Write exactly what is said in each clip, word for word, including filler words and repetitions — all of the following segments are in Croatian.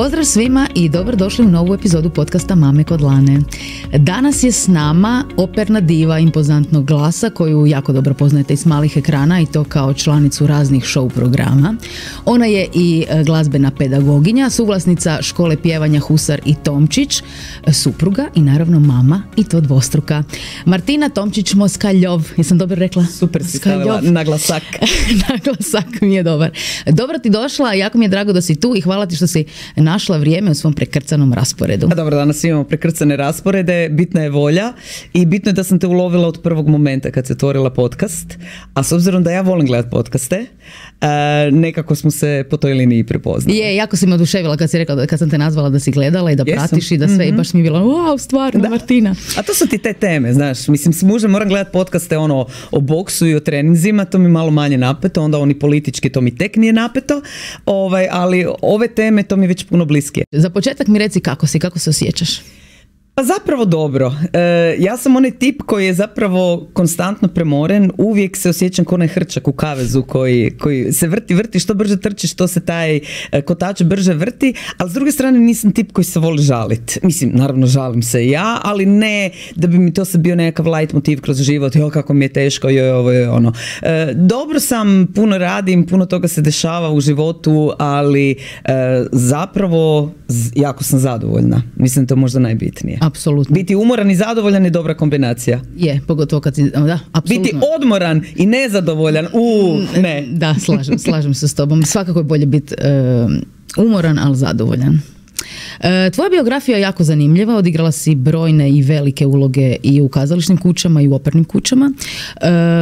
Pozdrav svima i dobrodošli u novu epizodu podcasta Mame kod Lane. Danas je s nama operna diva impozantnog glasa koju jako dobro poznajete iz malih ekrana i to kao članicu raznih show programa. Ona je i glazbena pedagoginja, suvlasnica škole pjevanja Husar i Tomčić, supruga i naravno mama i to dvostruka. Martina Tomčić-Moskaljov, jesam dobro rekla? Super si stavila naglasak. Naglasak mi je dobar. Dobro ti došla, jako mi je drago da si tu i hvala ti što si našla vrijeme u svom prekrcanom rasporedu. A dobro, danas imamo prekrcane rasporede, bitna je volja i bitno je da sam te ulovila od prvog momenta kad se otvorila podcast, a s obzirom da ja volim gledati podcaste, uh, nekako smo se po toj liniji prepoznali. Je, jako si me oduševila kad si rekla, da, kad sam te nazvala da si gledala i da Jesam. pratiš i da sve, mm-hmm. i baš mi je bilo, wow, stvarno, da. Martina. A to su ti te teme, znaš, mislim, s mužem moram gledati podcaste ono, o boksu i o treninzima, to mi malo manje napeto, onda oni politički, to mi tek nije napeto, ovaj, ali ove teme, to mi je već puno bliskije. Za početak mi reci kako si, kako se osjećaš? Pa zapravo dobro. E, ja sam onaj tip koji je zapravo konstantno premoren, uvijek se osjećam kao onaj hrčak u kavezu koji, koji se vrti, vrti, što brže trči, što se taj kotač brže vrti, ali s druge strane nisam tip koji se voli žaliti. Mislim, naravno žalim se i ja, ali ne da bi mi to sad bio nekakav light motiv kroz život, jo kako mi je teško, jo ovo je ono. E, dobro sam, puno radim, puno toga se dešava u životu, ali e, zapravo jako sam zadovoljna. Mislim, to je možda najbitnije. Apsolutno. Biti umoran i zadovoljan je dobra kombinacija. Je, pogotovo kad si, da, apsolutno. Biti odmoran i nezadovoljan, u, ne. Da, slažem, slažem se s tobom. Svakako je bolje biti uh, umoran, ali zadovoljan. Tvoja biografija je jako zanimljiva, odigrala si brojne i velike uloge i u kazališnim kućama i u opernim kućama.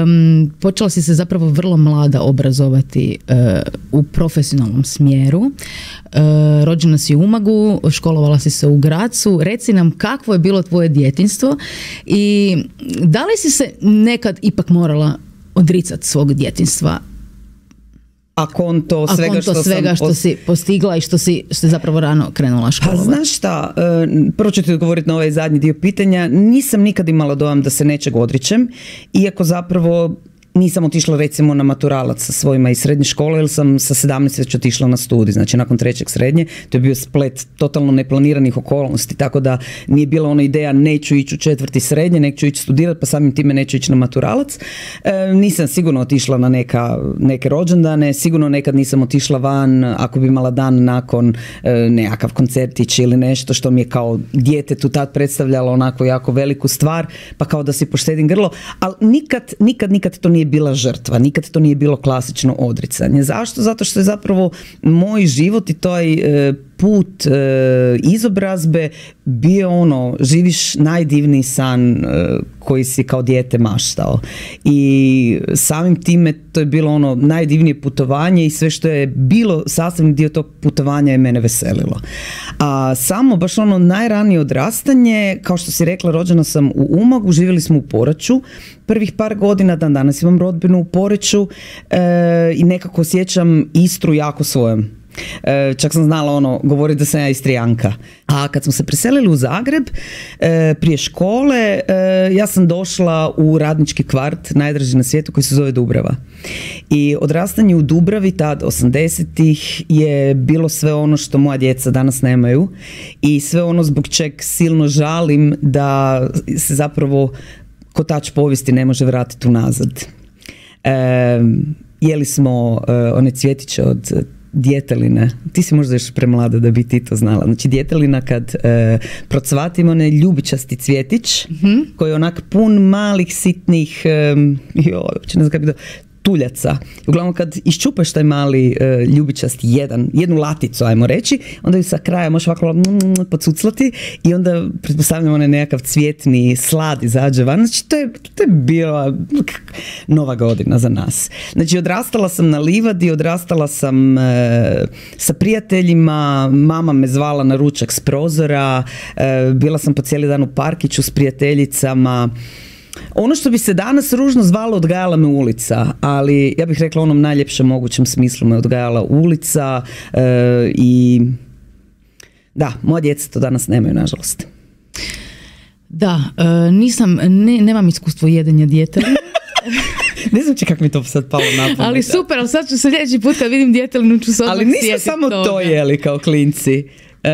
Um, počela si se zapravo vrlo mlada obrazovati uh, u profesionalnom smjeru. Uh, rođena si u Umagu, školovala si se u Grazu. Reci nam kakvo je bilo tvoje djetinjstvo i da li si se nekad ipak morala odricati svog djetinjstva? A konto svega, A konto što, svega sam što post... si postigla i što si, što si zapravo rano krenula školovati. Pa znaš šta, prvo ću ti odgovoriti na ovaj zadnji dio pitanja. Nisam nikad imala dojam da se nečeg odričem, iako zapravo nisam otišla recimo na maturalac sa svojima iz srednje škole, jer sam sa sedamnaest već otišla na studij, znači nakon trećeg srednje. To je bio splet totalno neplaniranih okolnosti, tako da nije bila ona ideja neću ići u četvrti srednje, neću ići studirati, pa samim time neću ići na maturalac. E, nisam sigurno otišla na neka, neke rođendane, sigurno nekad nisam otišla van ako bi imala dan nakon e, nekakav koncertić ili nešto što mi je kao djetetu tad predstavljalo onako jako veliku stvar, pa kao da si poštedim grlo, ali nikad, nikad, nikad to nije bila žrtva, nikad to nije bilo klasično odricanje. Zašto? Zato što je zapravo moj život i taj e, put e, izobrazbe bio ono, živiš najdivniji san e, koji si kao dijete maštao. I samim time to je bilo ono najdivnije putovanje i sve što je bilo sastavni dio tog putovanja je mene veselilo. A samo baš ono najranije odrastanje, kao što si rekla, rođena sam u Umagu, živjeli smo u Poreču, prvih par godina, dan danas imam rodbinu u Poreču e, i nekako osjećam Istru jako svojom. E, čak sam znala ono, govoriti da sam ja Istrijanka. A kad smo se preselili u Zagreb e, prije škole, e, ja sam došla u radnički kvart, najdraži na svijetu, koji se zove Dubrava. I odrastanje u Dubravi tad osamdesetih je bilo sve ono što moja djeca danas nemaju i sve ono zbog čeg silno žalim da se zapravo kotač povijesti ne može vratiti unazad. E, jeli smo e, one cvjetiće od djeteline, ti si možda još premlada da bi ti to znala. Znači djetelina kad e, procvatimo onaj ljubičasti cvjetić, mm-hmm. koji je onak pun malih sitnih e, joj, ne znam kako bi to, tuljaca. Uglavnom kad iščupaš taj mali e, ljubičasti jedan, jednu laticu, ajmo reći, onda ju sa kraja možeš ovako mm, pocuclati i onda pretpostavljamo onaj nekakav cvjetni slad izađe van. Znači to je, to je bila nova godina za nas. Znači odrastala sam na livadi, odrastala sam e, sa prijateljima, mama me zvala na ručak s prozora, e, bila sam po cijeli dan u parkiću s prijateljicama. Ono što bi se danas ružno zvalo odgajala me ulica, ali ja bih rekla u onom najljepšem mogućem smislu me odgajala ulica e, i da, moja djeca to danas nemaju, nažalost. Da, e, nisam, ne, nemam iskustvo jedenja djetelina. Ne znam će kako mi to sad palo na pamet. Ali super, ali sad ću se sljedeći put kad vidim djetelinu ću se odmah ali nismo sjetiti samo toga. To jeli kao klinci. E,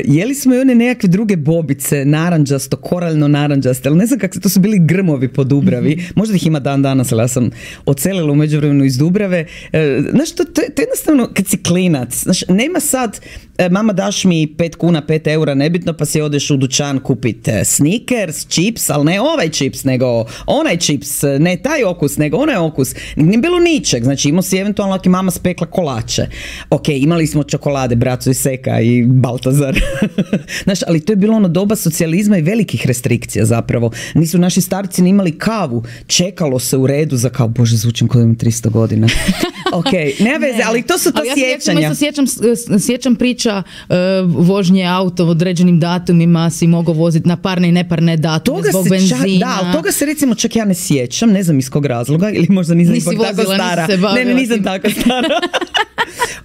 jeli smo i one nekakve druge bobice, naranđasto, koraljno naranđaste, ali ne znam kako se, to su bili grmovi po Dubravi, mm-hmm. možda ih ima dan danas, ali ja sam ocelila u međuvremenu iz Dubrave. E, znaš, to, to, to jednostavno, kad si klinac, znaš, nema sad, e, mama daš mi pet kuna, pet eura, nebitno, pa si odeš u dućan kupiti Snickers, čips, ali ne ovaj čips, nego onaj čips, ne taj okus, nego onaj okus. Nije bilo ničeg, znači imao si eventualno ako mama spekla kolače. Ok, imali smo čokolade, Braco i Seka i Baltazar. Znaš, ali to je bilo ono doba socijalizma i velikih restrikcija zapravo. Nisu naši starci ni imali kavu, čekalo se u redu za kao, bože, zvučim kao imam tristo godina. Ok, nema veze, ali to su to ali sjećanja. Ja se sjećam, sjećam priča uh, vožnje auto određenim datumima, si mogao voziti na parne i neparne datume toga zbog benzina. Čak, da, ali toga se recimo čak ja ne sjećam, ne znam iz kog razloga, ili možda nisam Nisi ipak vozila, tako stara. Nisi se ne, ne, nisam tako stara.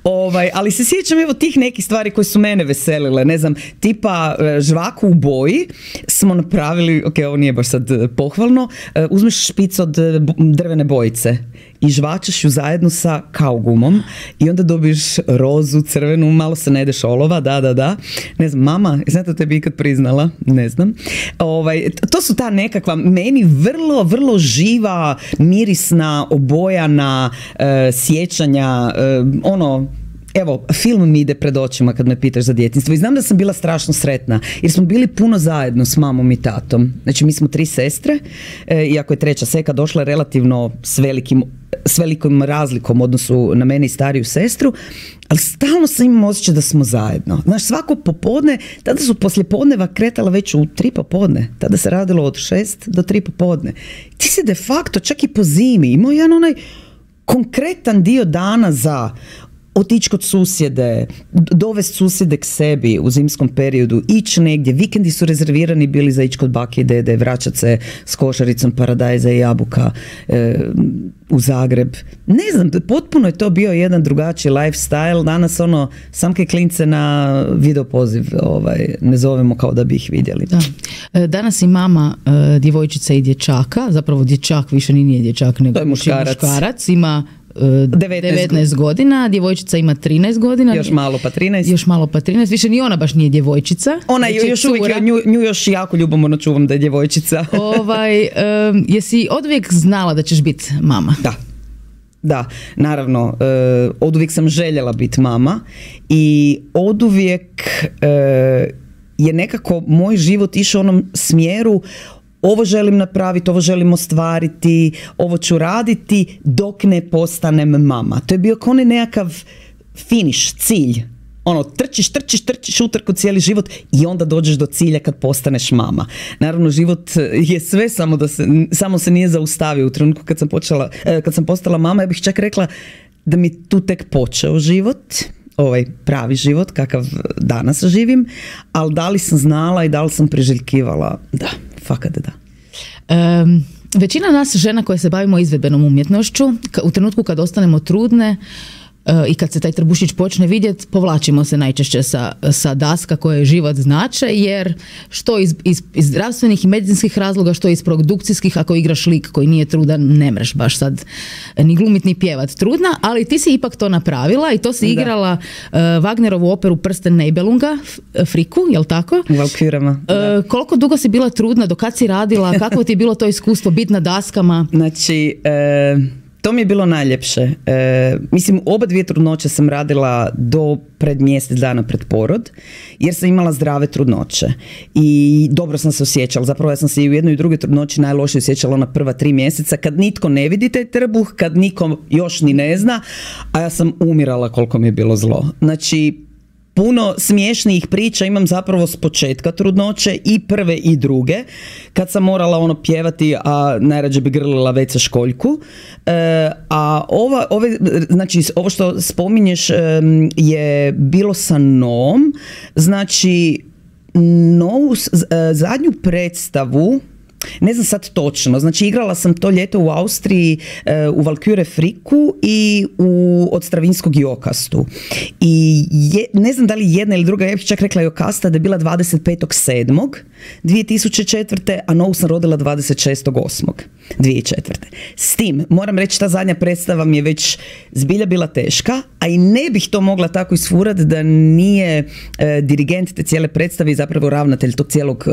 Ovaj, ali se sjećam evo tih nekih stvari koje su mene veselile, ne znam, tipa žvaku u boji smo napravili, ok, ovo nije baš sad pohvalno, uzmeš špic od drvene bojice i žvačeš ju zajedno sa kaugumom i onda dobiješ rozu, crvenu, malo se najdeš olova, da, da, da. Ne znam, mama, znam da tebi ikad priznala, ne znam. Ovaj, to su ta nekakva, meni vrlo, vrlo živa, mirisna, obojana uh, sjećanja, uh, ono, evo, film mi ide pred očima kad me pitaš za djetinjstvo i znam da sam bila strašno sretna jer smo bili puno zajedno s mamom i tatom. Znači mi smo tri sestre, e, iako je treća Seka došla relativno s velikim, s velikom razlikom u odnosu na mene i stariju sestru, ali stalno sam imala osjećaj da smo zajedno. Znaš, svako popodne, tada su poslijepodneva kretala već u tri popodne, tada se radilo od šest do tri popodne. Ti si de facto čak i po zimi imao jedan onaj konkretan dio dana za otići kod susjede, dovesti susjede k sebi u zimskom periodu, ići negdje, vikendi su rezervirani bili za ići kod bake i dede, vraćati se s košaricom paradajza i jabuka e, u Zagreb. Ne znam, potpuno je to bio jedan drugačiji lifestyle, danas ono, samke klince na videopoziv ovaj, ne zovemo kao da bi ih vidjeli. Da. Danas i mama e, djevojčica i dječaka, zapravo dječak više ni nije dječak, nego je muškarac. muškarac, ima devetnaest godina, djevojčica ima trinaest godina. Još malo pa trinaest. Još malo pa trinaest, više ni ona baš nije djevojčica. Ona je još uvijek, nju, nju još jako ljubomorno čuvam da je djevojčica. ovaj, um, jesi oduvijek znala da ćeš biti mama? Da. Da, naravno, uh, oduvijek sam željela biti mama i oduvijek uh, je nekako moj život išao u onom smjeru ovo želim napraviti, ovo želim ostvariti, ovo ću raditi dok ne postanem mama. To je bio kao onaj nekakav finiš, cilj. Ono, trčiš, trčiš, trčiš utrku cijeli život i onda dođeš do cilja kad postaneš mama. Naravno, život je sve, samo, da se, samo se nije zaustavio. U trenutku kad sam, počela, kad sam postala mama, ja bih čak rekla da mi tu tek počeo život, ovaj pravi život kakav danas živim, ali da li sam znala i da li sam priželjkivala? Da, fakat da. Um, većina nas žena koje se bavimo izvedbenom umjetnošću, u trenutku kad ostanemo trudne uh, i kad se taj trbušić počne vidjeti, povlačimo se najčešće sa, sa daska koje život znače, jer što iz, iz, iz zdravstvenih i medicinskih razloga, što iz produkcijskih, ako igraš lik koji nije trudan, ne mreš baš sad ni glumit ni pjevat trudna, ali ti si ipak to napravila i to si da. igrala uh, Wagnerovu operu Prsten Nibelunga, Friku, jel tako? U Valkyrama. Uh, koliko dugo si bila trudna, do kad si radila, kako ti je bilo to iskustvo biti na daskama? Znači, e, to mi je bilo najljepše. E, mislim, oba dvije trudnoće sam radila do pred mjesec dana pred porod, jer sam imala zdrave trudnoće i dobro sam se osjećala. Zapravo ja sam se i u jednoj i drugoj trudnoći najlošije osjećala na prva tri mjeseca, kad nitko ne vidi taj trbuh, kad niko još ni ne zna, a ja sam umirala koliko mi je bilo zlo. Znači, puno smiješnijih priča imam zapravo s početka trudnoće, i prve i druge, kad sam morala ono pjevati, a najrađe bi grlila Veca Školjku. E, a ova, ove, znači, ovo što spominješ e, je bilo sa Noom. Znači, Novu e, zadnju predstavu, ne znam sad točno, znači igrala sam to ljeto u Austriji e, u Valkyre Friku i u Od Stravinskog Jokastu. I je, ne znam da li jedna ili druga, ja bih čak rekla Jokasta da je bila dvadeset petog sedmog dvije tisuće četvrte. a Novu sam rodila dvadeset šestog osmog dvije tisuće četvrte. S tim, moram reći, ta zadnja predstava mi je već zbilja bila teška, a i ne bih to mogla tako isfurati da nije e, dirigent te cijele predstave i zapravo ravnatelj tog cijelog e,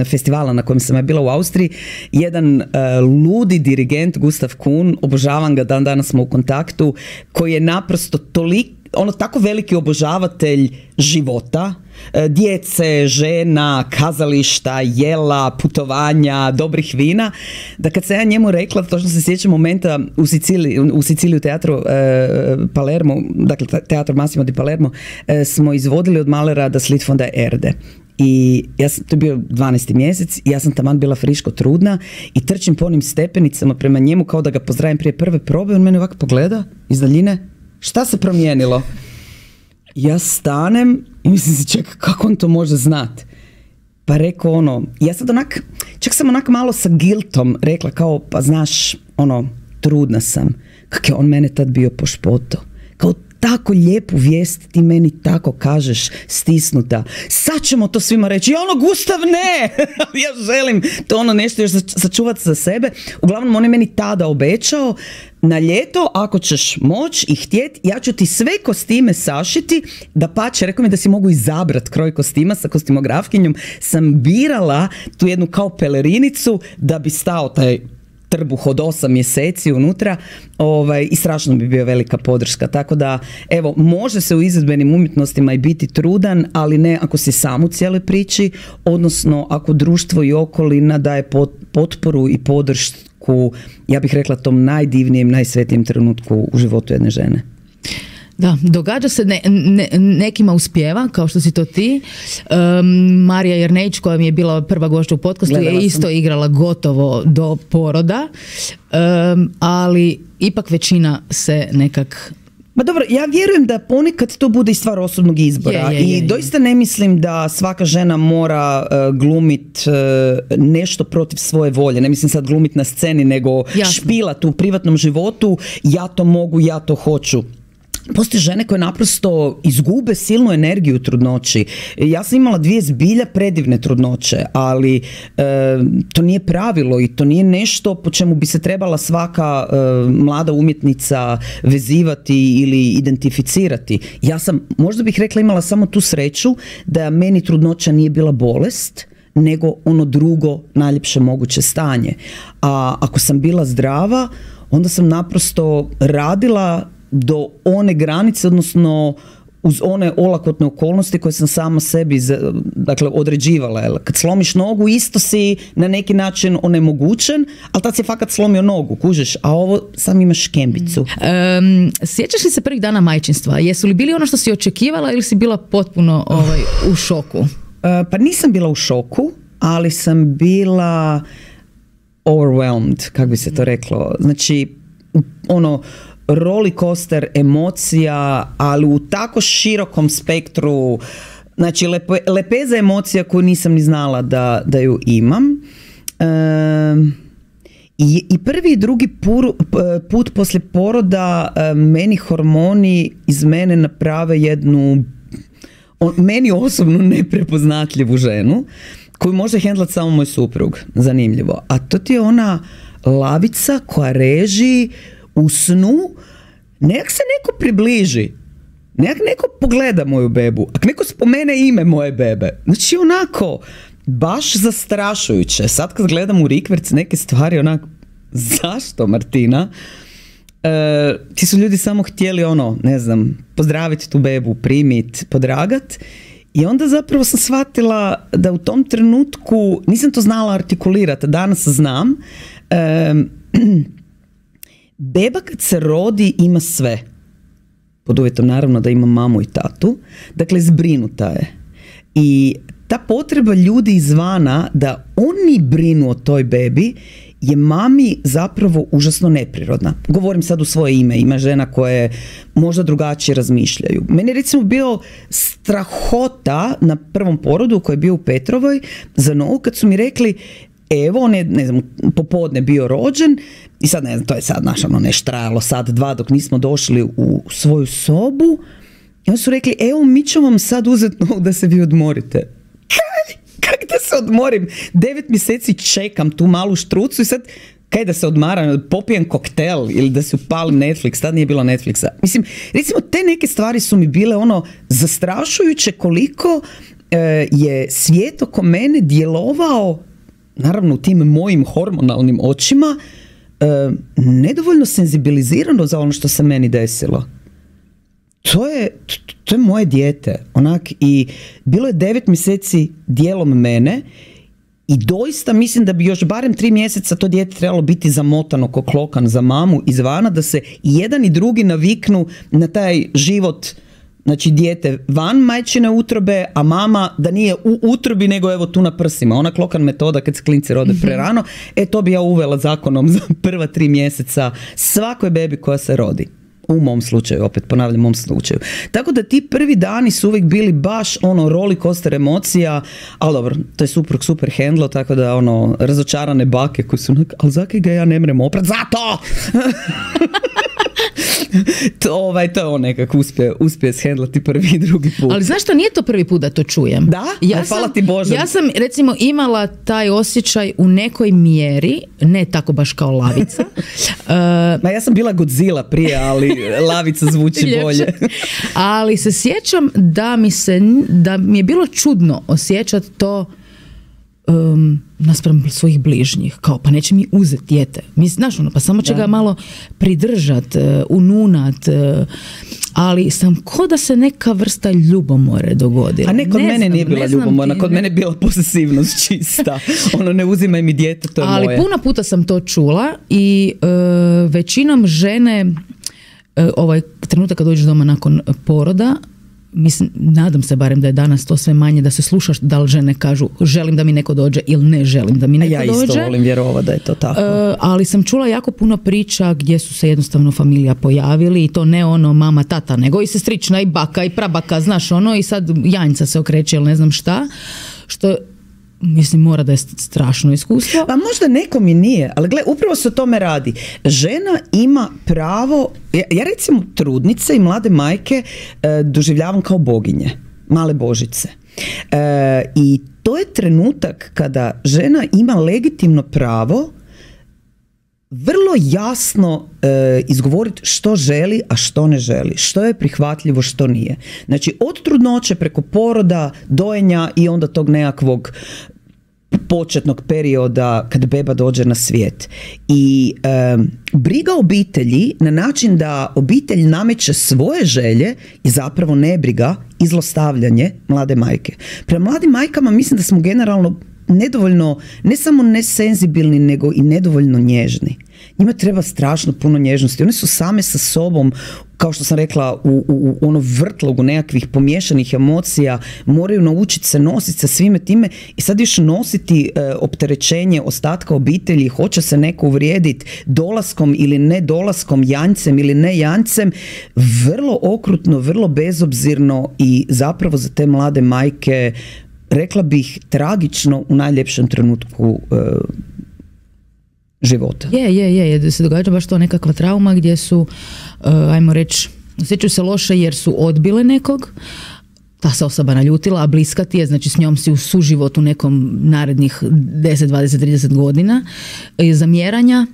e, festivala na kojem sam ja bila u Austriji, jedan e, ludi dirigent Gustav Kuhn, obožavam ga, dan danas smo u kontaktu, koji je naprosto toliko, ono, tako veliki obožavatelj života, djece, žena, kazališta, jela, putovanja, dobrih vina, da kad se ja njemu rekla, točno se sjećam momenta u Siciliji, u Siciliji u teatru e, Palermo, dakle teatru Massimo di Palermo, e, smo izvodili od Mahlera Das Lied von der Erde. I ja sam, to je bio dvanaesti mjesec i ja sam taman bila friško trudna i trčim po onim stepenicama prema njemu kao da ga pozdravim prije prve probe. On mene ovako pogleda iz daljine. Šta se promijenilo? Ja stanem i mislim si, čekaj, kako on to može znat? Pa rekao ono, ja sad onak, čak sam onak malo sa guiltom rekla kao, pa znaš, ono, trudna sam. Kak je on mene tad bio po špoto. Kao, tako lijepu vijest ti meni tako kažeš, stisnuta. Sad ćemo to svima reći. I ono, Gustav, ne! Ja želim to ono nešto još sačuvati za sebe. Uglavnom, on je meni tada obećao, na ljeto, ako ćeš moć i htjet, ja ću ti sve kostime sašiti, da pače, rekao mi da si mogu izabrat kroj kostima sa kostimografkinjom, sam birala tu jednu kao pelerinicu da bi stao taj trbuh od osam mjeseci unutra, ovaj, i strašno bi bio velika podrška. Tako da, evo, može se u izvedbenim umjetnostima i biti trudan, ali ne ako si sam u cijeloj priči, odnosno ako društvo i okolina daje potporu i podršku, ja bih rekla, tom najdivnijem, najsvetijem trenutku u životu jedne žene. Da, događa se, ne, ne, nekima uspijeva, kao što si to ti. Um, Marija Jernejić, koja mi je bila prva gošća u podcastu, je isto igrala gotovo do poroda, um, ali ipak većina se nekak... Ma dobro, ja vjerujem da ponekad to bude i stvar osobnog izbora. Je, je, je, je. I doista ne mislim da svaka žena mora uh, glumit uh, nešto protiv svoje volje. Ne mislim sad glumit na sceni, nego Jasno. špilat u privatnom životu. Ja to mogu, ja to hoću. Postoje žene koje naprosto izgube silnu energiju u trudnoći. Ja sam imala dvije zbilja predivne trudnoće, ali e, to nije pravilo i to nije nešto po čemu bi se trebala svaka e, mlada umjetnica vezivati ili identificirati. Ja sam, možda bih rekla, imala samo tu sreću da meni trudnoća nije bila bolest, nego ono drugo najljepše moguće stanje. A ako sam bila zdrava, onda sam naprosto radila do one granice, odnosno uz one olakotne okolnosti koje sam sama sebi, dakle, određivala. Jel? Kad slomiš nogu, isto si na neki način onemogućen, ali tad si fakat slomio nogu, kužiš, a ovo sam imaš škembicu. Um, sjećaš li se prvih dana majčinstva? Jesu li bili ono što si očekivala ili si bila potpuno ovaj, u šoku? Uh, pa nisam bila u šoku, ali sam bila overwhelmed, kako bi se to reklo. Znači, ono, roller coaster emocija, ali u tako širokom spektru, znači lepe, lepeza emocija koju nisam ni znala da, da ju imam. E, i, i prvi i drugi pur, put poslije poroda e, meni hormoni iz mene naprave jednu on, meni osobno neprepoznatljivu ženu koju može hendlat samo moj suprug, zanimljivo. A to ti je ona lavica koja reži u snu, nek se neko približi, nek neko pogleda moju bebu, ak neko spomene ime moje bebe, znači onako, baš zastrašujuće. Sad kad gledam u rikverc neke stvari, onako, zašto, Martina? E, ti su ljudi samo htjeli ono, ne znam, pozdraviti tu bebu, primit, podragat, i onda zapravo sam shvatila da u tom trenutku nisam to znala artikulirati, danas znam. E, Beba kad se rodi ima sve, pod uvjetom naravno da ima mamu i tatu, dakle zbrinuta je. I ta potreba ljudi izvana da oni brinu o toj bebi je mami zapravo užasno neprirodna. Govorim sad u svoje ime, ima žena koje možda drugačije razmišljaju. Meni je recimo bio strahota na prvom porodu koji je bio u Petrovoj za novu, kad su mi rekli, evo, on je, ne znam, popodne bio rođen i sad, ne znam, to je sad naš, ono, nešto trajalo sad dva dok nismo došli u svoju sobu i oni su rekli, evo, mi ćemo vam sad uzeti novu da se vi odmorite. Kaj? Kak da se odmorim? Devet mjeseci čekam tu malu štrucu i sad kaj da se odmaram, popijem koktel ili da se upalim Netflix, tad nije bilo Netflixa. Mislim, recimo te neke stvari su mi bile ono zastrašujuće koliko e, je svijet oko mene djelovao, naravno u tim mojim hormonalnim očima, e, nedovoljno senzibilizirano za ono što se meni desilo. To je, to je moje dijete, onak, i bilo je devet mjeseci dijelom mene i doista mislim da bi još barem tri mjeseca to dijete trebalo biti zamotano ko klokan za mamu izvana, da se i jedan i drugi naviknu na taj život, znači dijete van majčine utrobe, a mama da nije u utrobi nego evo tu na prsima. Ona klokan metoda kad se klinci rode prerano, e to bi ja uvela zakonom za prva tri mjeseca svakoj bebi koja se rodi. U mom slučaju, opet ponavljam, mom slučaju. Tako da ti prvi dani su uvijek bili baš ono roller coaster emocija, ali dobro, to je suprug super handlo, tako da ono, razočarane bake koji su, ali zakaj ga ja ne mrem oprat? Zato! to, ovaj, to je on nekako uspije, uspije shendlati prvi i drugi put. Ali znaš što, nije to prvi put da to čujem. Da? Ja Aj, hvala sam, ti Bože. Ja sam recimo imala taj osjećaj u nekoj mjeri, ne tako baš kao Lavica. uh, Ma ja sam bila Godzilla prije, ali Lavica zvuči bolje. Ali se sjećam da mi, se, da mi je bilo čudno osjećati to Um, naspram svojih bližnjih, kao pa neće mi uzeti dijete, mi, znaš ono, pa samo će ga malo pridržat, uh, ununat, uh, ali sam ko da se neka vrsta ljubomore dogodila. A ne, kod ne mene znam, nije bila ljubomora, kod mene je bila posesivnost čista. Ono, ne uzimaj mi dijete, to je ali moje. Ali puno puta sam to čula i uh, većinom žene uh, ovaj trenutak kad dođeš doma nakon poroda, mislim, nadam se barem da je danas to sve manje, da se slušaš da li žene kažu želim da mi neko dođe ili ne želim da mi neko ja dođe. Ja isto volim vjerovati da je to tako. Uh, ali sam čula jako puno priča gdje su se jednostavno familija pojavili i to ne ono mama, tata, nego i sestrična i baka i prabaka, znaš ono, i sad janjca se okreće ili ne znam šta, što mislim mora da je strašno iskustvo. Pa možda nekom i nije, ali gle, upravo se o tome radi. Žena ima pravo, ja, ja recimo trudnice i mlade majke e, doživljavam kao boginje, male božice. E, I to je trenutak kada žena ima legitimno pravo vrlo jasno e, izgovoriti što želi, a što ne želi, što je prihvatljivo, što nije. Znači od trudnoće preko poroda, dojenja i onda tog nekakvog početnog perioda kad beba dođe na svijet. I e, briga obitelji na način da obitelj nameće svoje želje i zapravo nebriga i zlostavljanje mlade majke. Prema mladim majkama mislim da smo generalno nedovoljno, ne samo nesenzibilni, nego i nedovoljno nježni. Njima treba strašno puno nježnosti. One su same sa sobom, kao što sam rekla, u, u, u ono vrtlogu nekakvih pomiješanih emocija, moraju naučiti se nositi sa svime time i sad još nositi e, opterećenje ostatka obitelji, hoće se neko uvrijediti dolaskom ili ne dolaskom, janjcem ili ne janjcem, vrlo okrutno, vrlo bezobzirno i zapravo za te mlade majke, rekla bih, tragično u najljepšem trenutku e, života. Je, je, je, da se događa baš to nekakva trauma gdje su, uh, ajmo reći, osjećaju se loše jer su odbile nekog, ta se osoba naljutila, a bliska ti je, znači s njom si u suživotu nekom narednih deset, dvadeset, trideset godina i zamjeranja,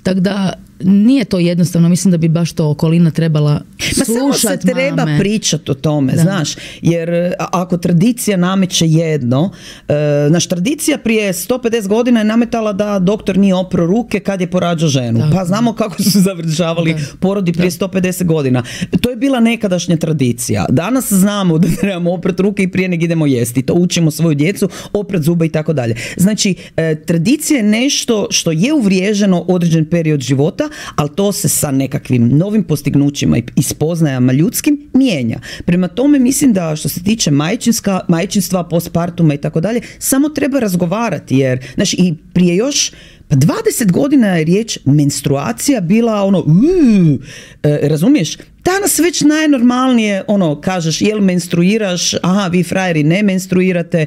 tako da nije to jednostavno, mislim da bi baš to okolina trebala slušati. Ma samo se treba pričati o tome, da. Znaš, jer ako tradicija nameće jedno, e, naš tradicija prije sto pedeset godina je nametala da doktor nije opro ruke kad je porađao ženu. Da. Pa znamo kako su završavali da. porodi prije da. sto pedeset godina. To je bila nekadašnja tradicija. Danas znamo da trebamo oprat ruke i prije nego idemo jesti. To učimo svoju djecu, oprat zuba i tako dalje. Znači, e, tradicija je nešto što je uvriježeno određen period života, ali to se sa nekakvim novim postignućima i spoznajama ljudskim mijenja. Prema tome mislim da što se tiče majčinska, majčinstva, postpartuma i tako dalje, samo treba razgovarati, jer znaš, i prije još pa dvadeset godina je riječ menstruacija bila ono, uh, e, razumiješ, Danas već najnormalnije, ono, kažeš, jel menstruiraš, aha, vi frajeri ne menstruirate,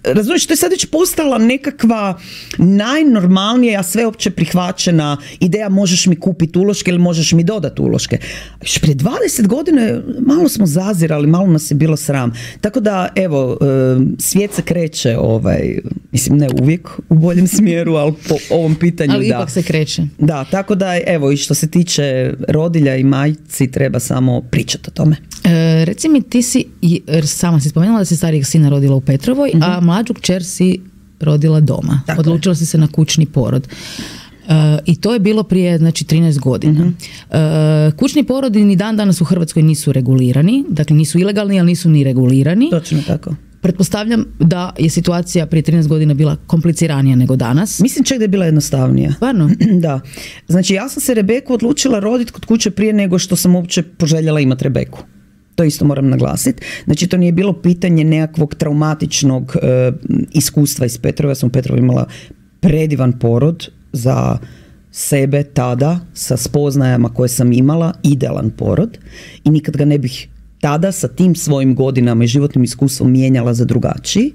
razumiješ, to je sad već postala nekakva najnormalnija, a sve opće prihvaćena ideja, možeš mi kupiti uloške ili možeš mi dodati uloške. Još prije dvadeset godine malo smo zazirali, malo nas je bilo sram. Tako da, evo, svijet se kreće, ovaj, mislim, ne uvijek u boljem smjeru, ali po ovom pitanju, ali da. ipak se kreće. Da, tako da, evo, i što se tiče rodilja i majci, treba samo pričati o tome. E, reci mi, ti si, jer sama si spomenula da si starijeg sina rodila u Petrovoj, mm-hmm. a mlađu kćer si rodila doma. Tako Odlučila je. si se na kućni porod. E, I to je bilo prije, znači, trinaest godina. Mm-hmm. E, kućni porodi ni dan danas u Hrvatskoj nisu regulirani, dakle nisu ilegalni, ali nisu ni regulirani. Točno tako. Pretpostavljam da je situacija prije trinaest godina bila kompliciranija nego danas. Mislim čak da je bila jednostavnija. Stvarno? Da. Znači, ja sam se Rebeku odlučila roditi kod kuće prije nego što sam uopće poželjela imati Rebeku. To isto moram naglasiti. Znači, to nije bilo pitanje nekakvog traumatičnog e, iskustva iz Petrova. Ja sam u Petrovu imala predivan porod za sebe tada, sa spoznajama koje sam imala, idealan porod i nikad ga ne bih tada sa tim svojim godinama i životnim iskustvom mijenjala za drugačiji.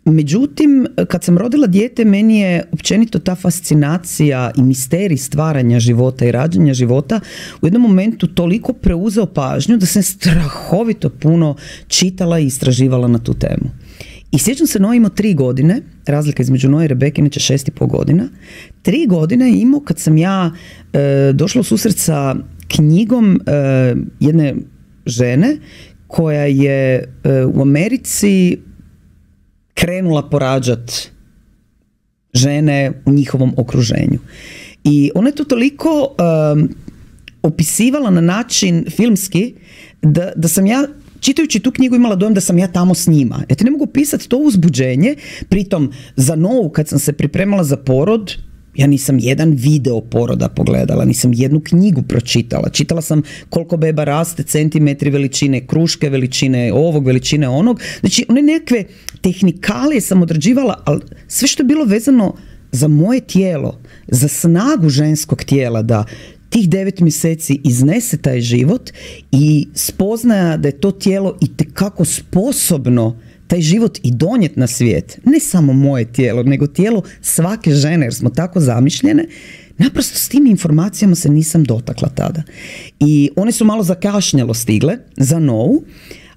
Međutim, kad sam rodila dijete, meni je općenito ta fascinacija i misterij stvaranja života i rađanja života u jednom momentu toliko preuzeo pažnju da sam strahovito puno čitala i istraživala na tu temu. I sjećam se, Noe imao tri godine, razlika između Noe i Rebeke, inače šest i pol godina. Tri godine je imao kad sam ja e, došla u susret sa knjigom e, jedne žene koja je e, u Americi krenula porađat žene u njihovom okruženju. I ona je to toliko um, opisivala na način filmski da, da sam ja, čitajući tu knjigu, imala dojam da sam ja tamo s njima. Ja ti ne mogu pisati to uzbuđenje, pritom za Novu kad sam se pripremala za porod, ja nisam jedan video poroda pogledala, nisam jednu knjigu pročitala. Čitala sam koliko beba raste, centimetri veličine kruške, veličine ovog, veličine onog. Znači, one nekakve tehnikalije sam odrađivala, ali sve što je bilo vezano za moje tijelo, za snagu ženskog tijela, da tih devet mjeseci iznese taj život i spoznaja da je to tijelo itekako sposobno taj život i donijet na svijet, ne samo moje tijelo, nego tijelo svake žene, jer smo tako zamišljene, naprosto s tim informacijama se nisam dotakla tada. I one su malo zakašnjelo stigle za Novu,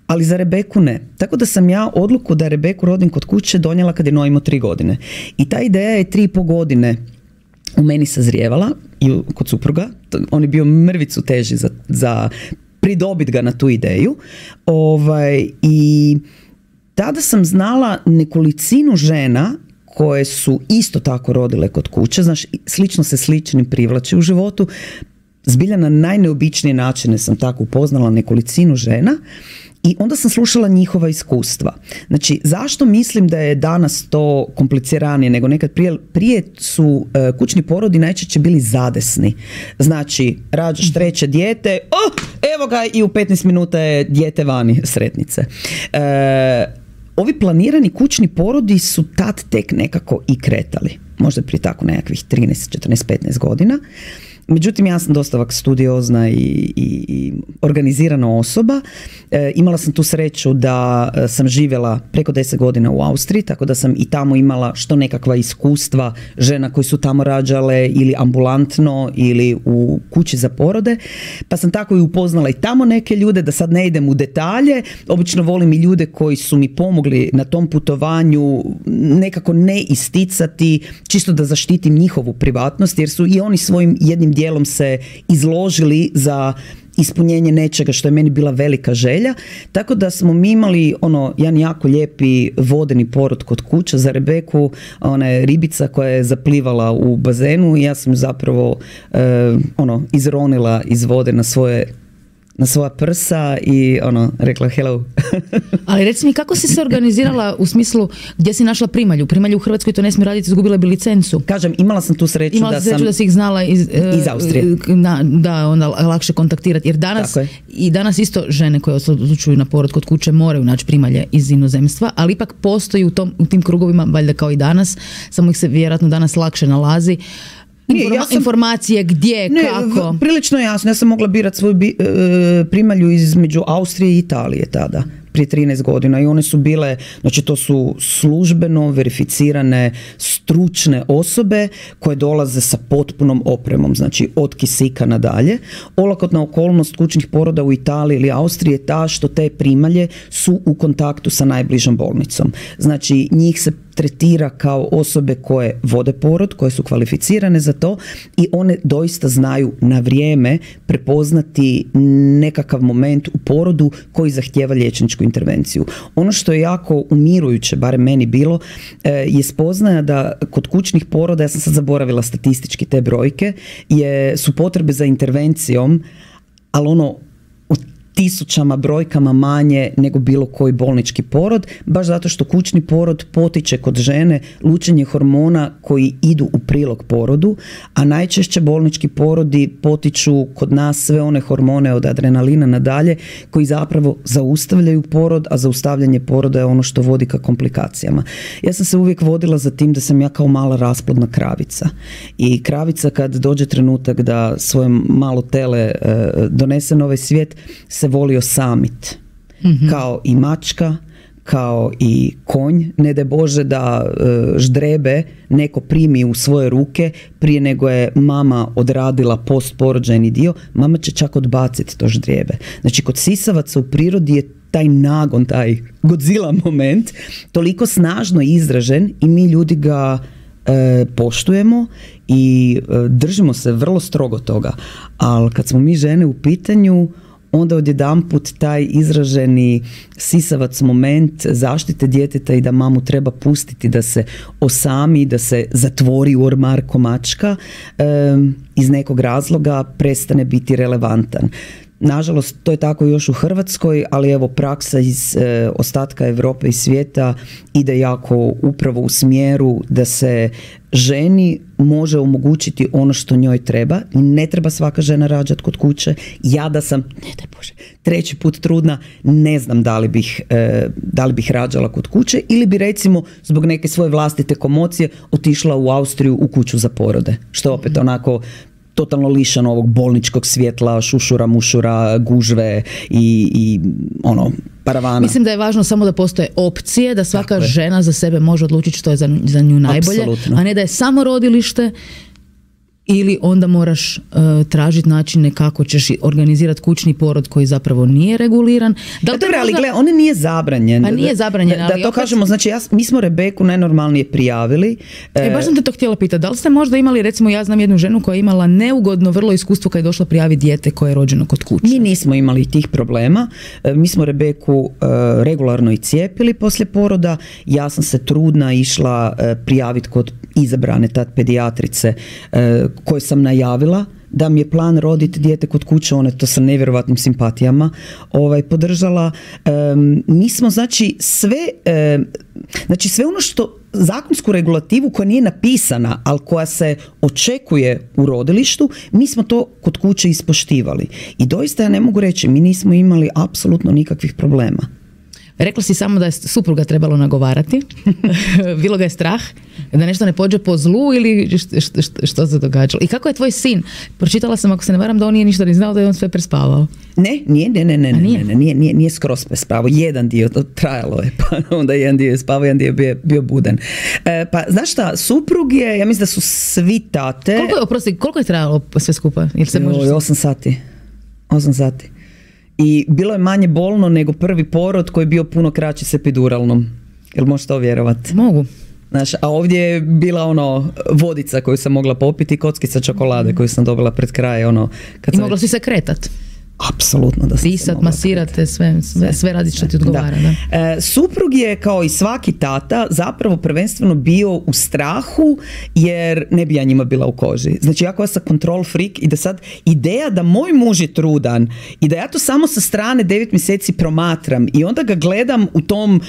ali za Rebeku ne. Tako da sam ja odluku da Rebeku rodim kod kuće donijela kad je Noe imao tri godine. I ta ideja je tri i po godine u meni sazrijevala i kod supruga. On je bio mrvicu teži za, za pridobit ga na tu ideju. Ovaj, i tada sam znala nekolicinu žena koje su isto tako rodile kod kuće, znaš, slično se sličnim privlači u životu. Zbilja na najneobičnije načine sam tako upoznala nekolicinu žena i onda sam slušala njihova iskustva. Znači, zašto mislim da je danas to kompliciranije nego nekad prije? Prije su uh, kućni porodi najčešće bili zadesni. Znači, rađaš treće dijete, oh, evo ga i u petnaest minuta je dijete vani, sretnice. Uh, Ovi planirani kućni porodi su tad tek nekako i kretali. Možda prije tako nekakvih trinaest, četrnaest, petnaest godina. Međutim, ja sam dosta ovak studiozna i, i, i organizirana osoba. E, imala sam tu sreću da sam živjela preko deset godina u Austriji, tako da sam i tamo imala što nekakva iskustva žena koji su tamo rađale ili ambulantno ili u kući za porode. Pa sam tako i upoznala i tamo neke ljude, da sad ne idem u detalje. Obično volim i ljude koji su mi pomogli na tom putovanju nekako ne isticati, čisto da zaštitim njihovu privatnost, jer su i oni svojim jednim dijelom se izložili za ispunjenje nečega što je meni bila velika želja. Tako da smo mi imali ono, jedan jako lijepi vodeni porod kod kuće za Rebeku, ona je ribica koja je zaplivala u bazenu i ja sam zapravo eh, ono, izronila iz vode na svoje na svoja prsa i ono, rekla hello. Ali reci mi, kako si se organizirala u smislu gdje si našla primalju? Primalju u Hrvatskoj to ne smije raditi, izgubila bi licencu. Kažem, imala sam tu sreću imala da sreću sam... da si ih znala iz, iz Austrije. Na, da, onda lakše kontaktirati. Jer danas, i danas isto žene koje se odlučuju na porod kod kuće moraju naći primalje iz inozemstva, ali ipak postoji u, tom, u tim krugovima, valjda kao i danas, samo ih se vjerojatno danas lakše nalazi, Informa- ja sam, informacije gdje, ne, kako? Prilično jasno. Ja sam mogla birati svoju bi, e, primalju između Austrije i Italije tada, prije trinaest godina, i one su bile, znači to su službeno verificirane stručne osobe koje dolaze sa potpunom opremom, znači od kisika nadalje. Olakotna okolnost kućnih poroda u Italiji ili Austriji je ta što te primalje su u kontaktu sa najbližom bolnicom. Znači njih se tretira kao osobe koje vode porod, koje su kvalificirane za to i one doista znaju na vrijeme prepoznati nekakav moment u porodu koji zahtijeva liječničku intervenciju. Ono što je jako umirujuće, barem meni bilo, je spoznaja da kod kućnih poroda, ja sam sad zaboravila statistički te brojke, je, su potrebe za intervencijom, ali ono u tisućama brojkama manje nego bilo koji bolnički porod, baš zato što kućni porod potiče kod žene lučenje hormona koji idu u prilog porodu, a najčešće bolnički porodi potiču kod nas sve one hormone od adrenalina nadalje koji zapravo zaustavljaju porod, a zaustavljanje poroda je ono što vodi ka komplikacijama. Ja sam se uvijek vodila za tim da sam ja kao mala rasplodna kravica. I kravica kad dođe trenutak da svoje malo tele e, donese na ovaj svijet, se voli osamit. Mm-hmm. Kao i mačka, kao i konj. Ne daj Bože da e, ždrebe neko primi u svoje ruke prije nego je mama odradila postporođajni dio, mama će čak odbaciti to ždrijebe. Znači kod sisavaca u prirodi je taj nagon, taj Godzilla moment toliko snažno izražen i mi ljudi ga e, poštujemo i e, držimo se vrlo strogo toga. Ali kad smo mi žene u pitanju, onda odjedanput taj izraženi sisavac moment zaštite djeteta i da mamu treba pustiti da se osami, da se zatvori u ormar ko mačka, e, iz nekog razloga prestane biti relevantan. Nažalost, to je tako još u Hrvatskoj, ali evo praksa iz e, ostatka Europe i svijeta ide jako upravo u smjeru da se ženi može omogućiti ono što njoj treba. Ne treba svaka žena rađati kod kuće. Ja da sam, ne daj Bože, treći put trudna, ne znam da li bih, e, da li bih rađala kod kuće ili bi recimo zbog neke svoje vlastite komocije otišla u Austriju u kuću za porode. Što opet onako totalno lišan ovog bolničkog svjetla, šušura, mušura, gužve i, i ono, paravana. Mislim da je važno samo da postoje opcije, da svaka žena za sebe može odlučiti što je za, za nju najbolje, apsolutno. A ne da je samo rodilište ili onda moraš uh, tražiti načine kako ćeš organizirati kućni porod koji zapravo nije reguliran. Da li Dobre, možda... ali gle, on nije zabranjen. Pa nije zabranjen, da, ali da to opet... kažemo, znači ja, mi smo Rebeku najnormalnije prijavili. E, baš sam te to htjela pitati, da li ste možda imali, recimo ja znam jednu ženu koja je imala neugodno vrlo iskustvo kad je došla prijaviti dijete koje je rođeno kod kuće. Mi nismo imali tih problema. Mi smo Rebeku uh, regularno i cijepili poslije poroda. Ja sam se trudna išla uh, prijaviti kod izabrane tad pedijatrice uh, koje sam najavila da mi je plan roditi dijete kod kuće, ona je to sa nevjerovatnim simpatijama ovaj, podržala. Um, mi smo znači sve, um, znači sve ono što zakonsku regulativu koja nije napisana, ali koja se očekuje u rodilištu, mi smo to kod kuće ispoštivali. I doista ja ne mogu reći, mi nismo imali apsolutno nikakvih problema. Rekla si samo da je supruga trebalo nagovarati. Bilo ga je strah da nešto ne pođe po zlu ili što, što, što se događalo. I kako je tvoj sin? Pročitala sam, ako se ne varam, da on nije ništa ni znao, da je on sve prespavao. Ne, nije, ne, ne, ne, nije? ne, nije, nije, nije skroz prespavao. Jedan dio, to trajalo je, pa onda jedan dio je spavao, jedan dio je bio, bio budan. E, pa, znaš šta, suprug je, ja mislim da su svi tate... Koliko je, oprosti, koliko je trajalo sve skupa? Ili se možeš... Osam sati. Osam sati. I bilo je manje bolno nego prvi porod koji je bio puno kraći s epiduralnom. Jel možeš to vjerovati? Mogu. Znaš, a ovdje je bila ono vodica koju sam mogla popiti i kockica čokolade koju sam dobila pred kraj. Ono, kad I mogla si se kretat? Apsolutno da sam Pisat, masirate, sve, sve, sve radi što ti odgovara. Da. Da. E, suprug je kao i svaki tata zapravo prvenstveno bio u strahu jer ne bi ja njima bila u koži. Znači ja koja sam control freak i da sad ideja da moj muž je trudan i da ja to samo sa strane devet mjeseci promatram i onda ga gledam u tom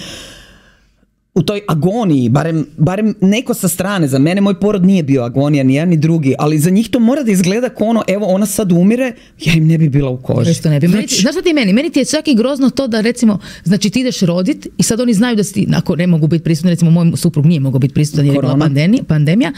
u toj agoniji, barem, barem neko sa strane, za mene moj porod nije bio agonija, ni jedan ni drugi, ali za njih to mora da izgleda kao ono, evo ona sad umire, ja im ne bi bila u koži. Što ne bi. Znači, znaš što ti meni? Meni ti je čak i grozno to da recimo, znači ti ideš rodit i sad oni znaju da si, ako ne mogu biti prisutni, recimo moj suprug nije mogao biti prisutan jer je bila pandemija, pandemija,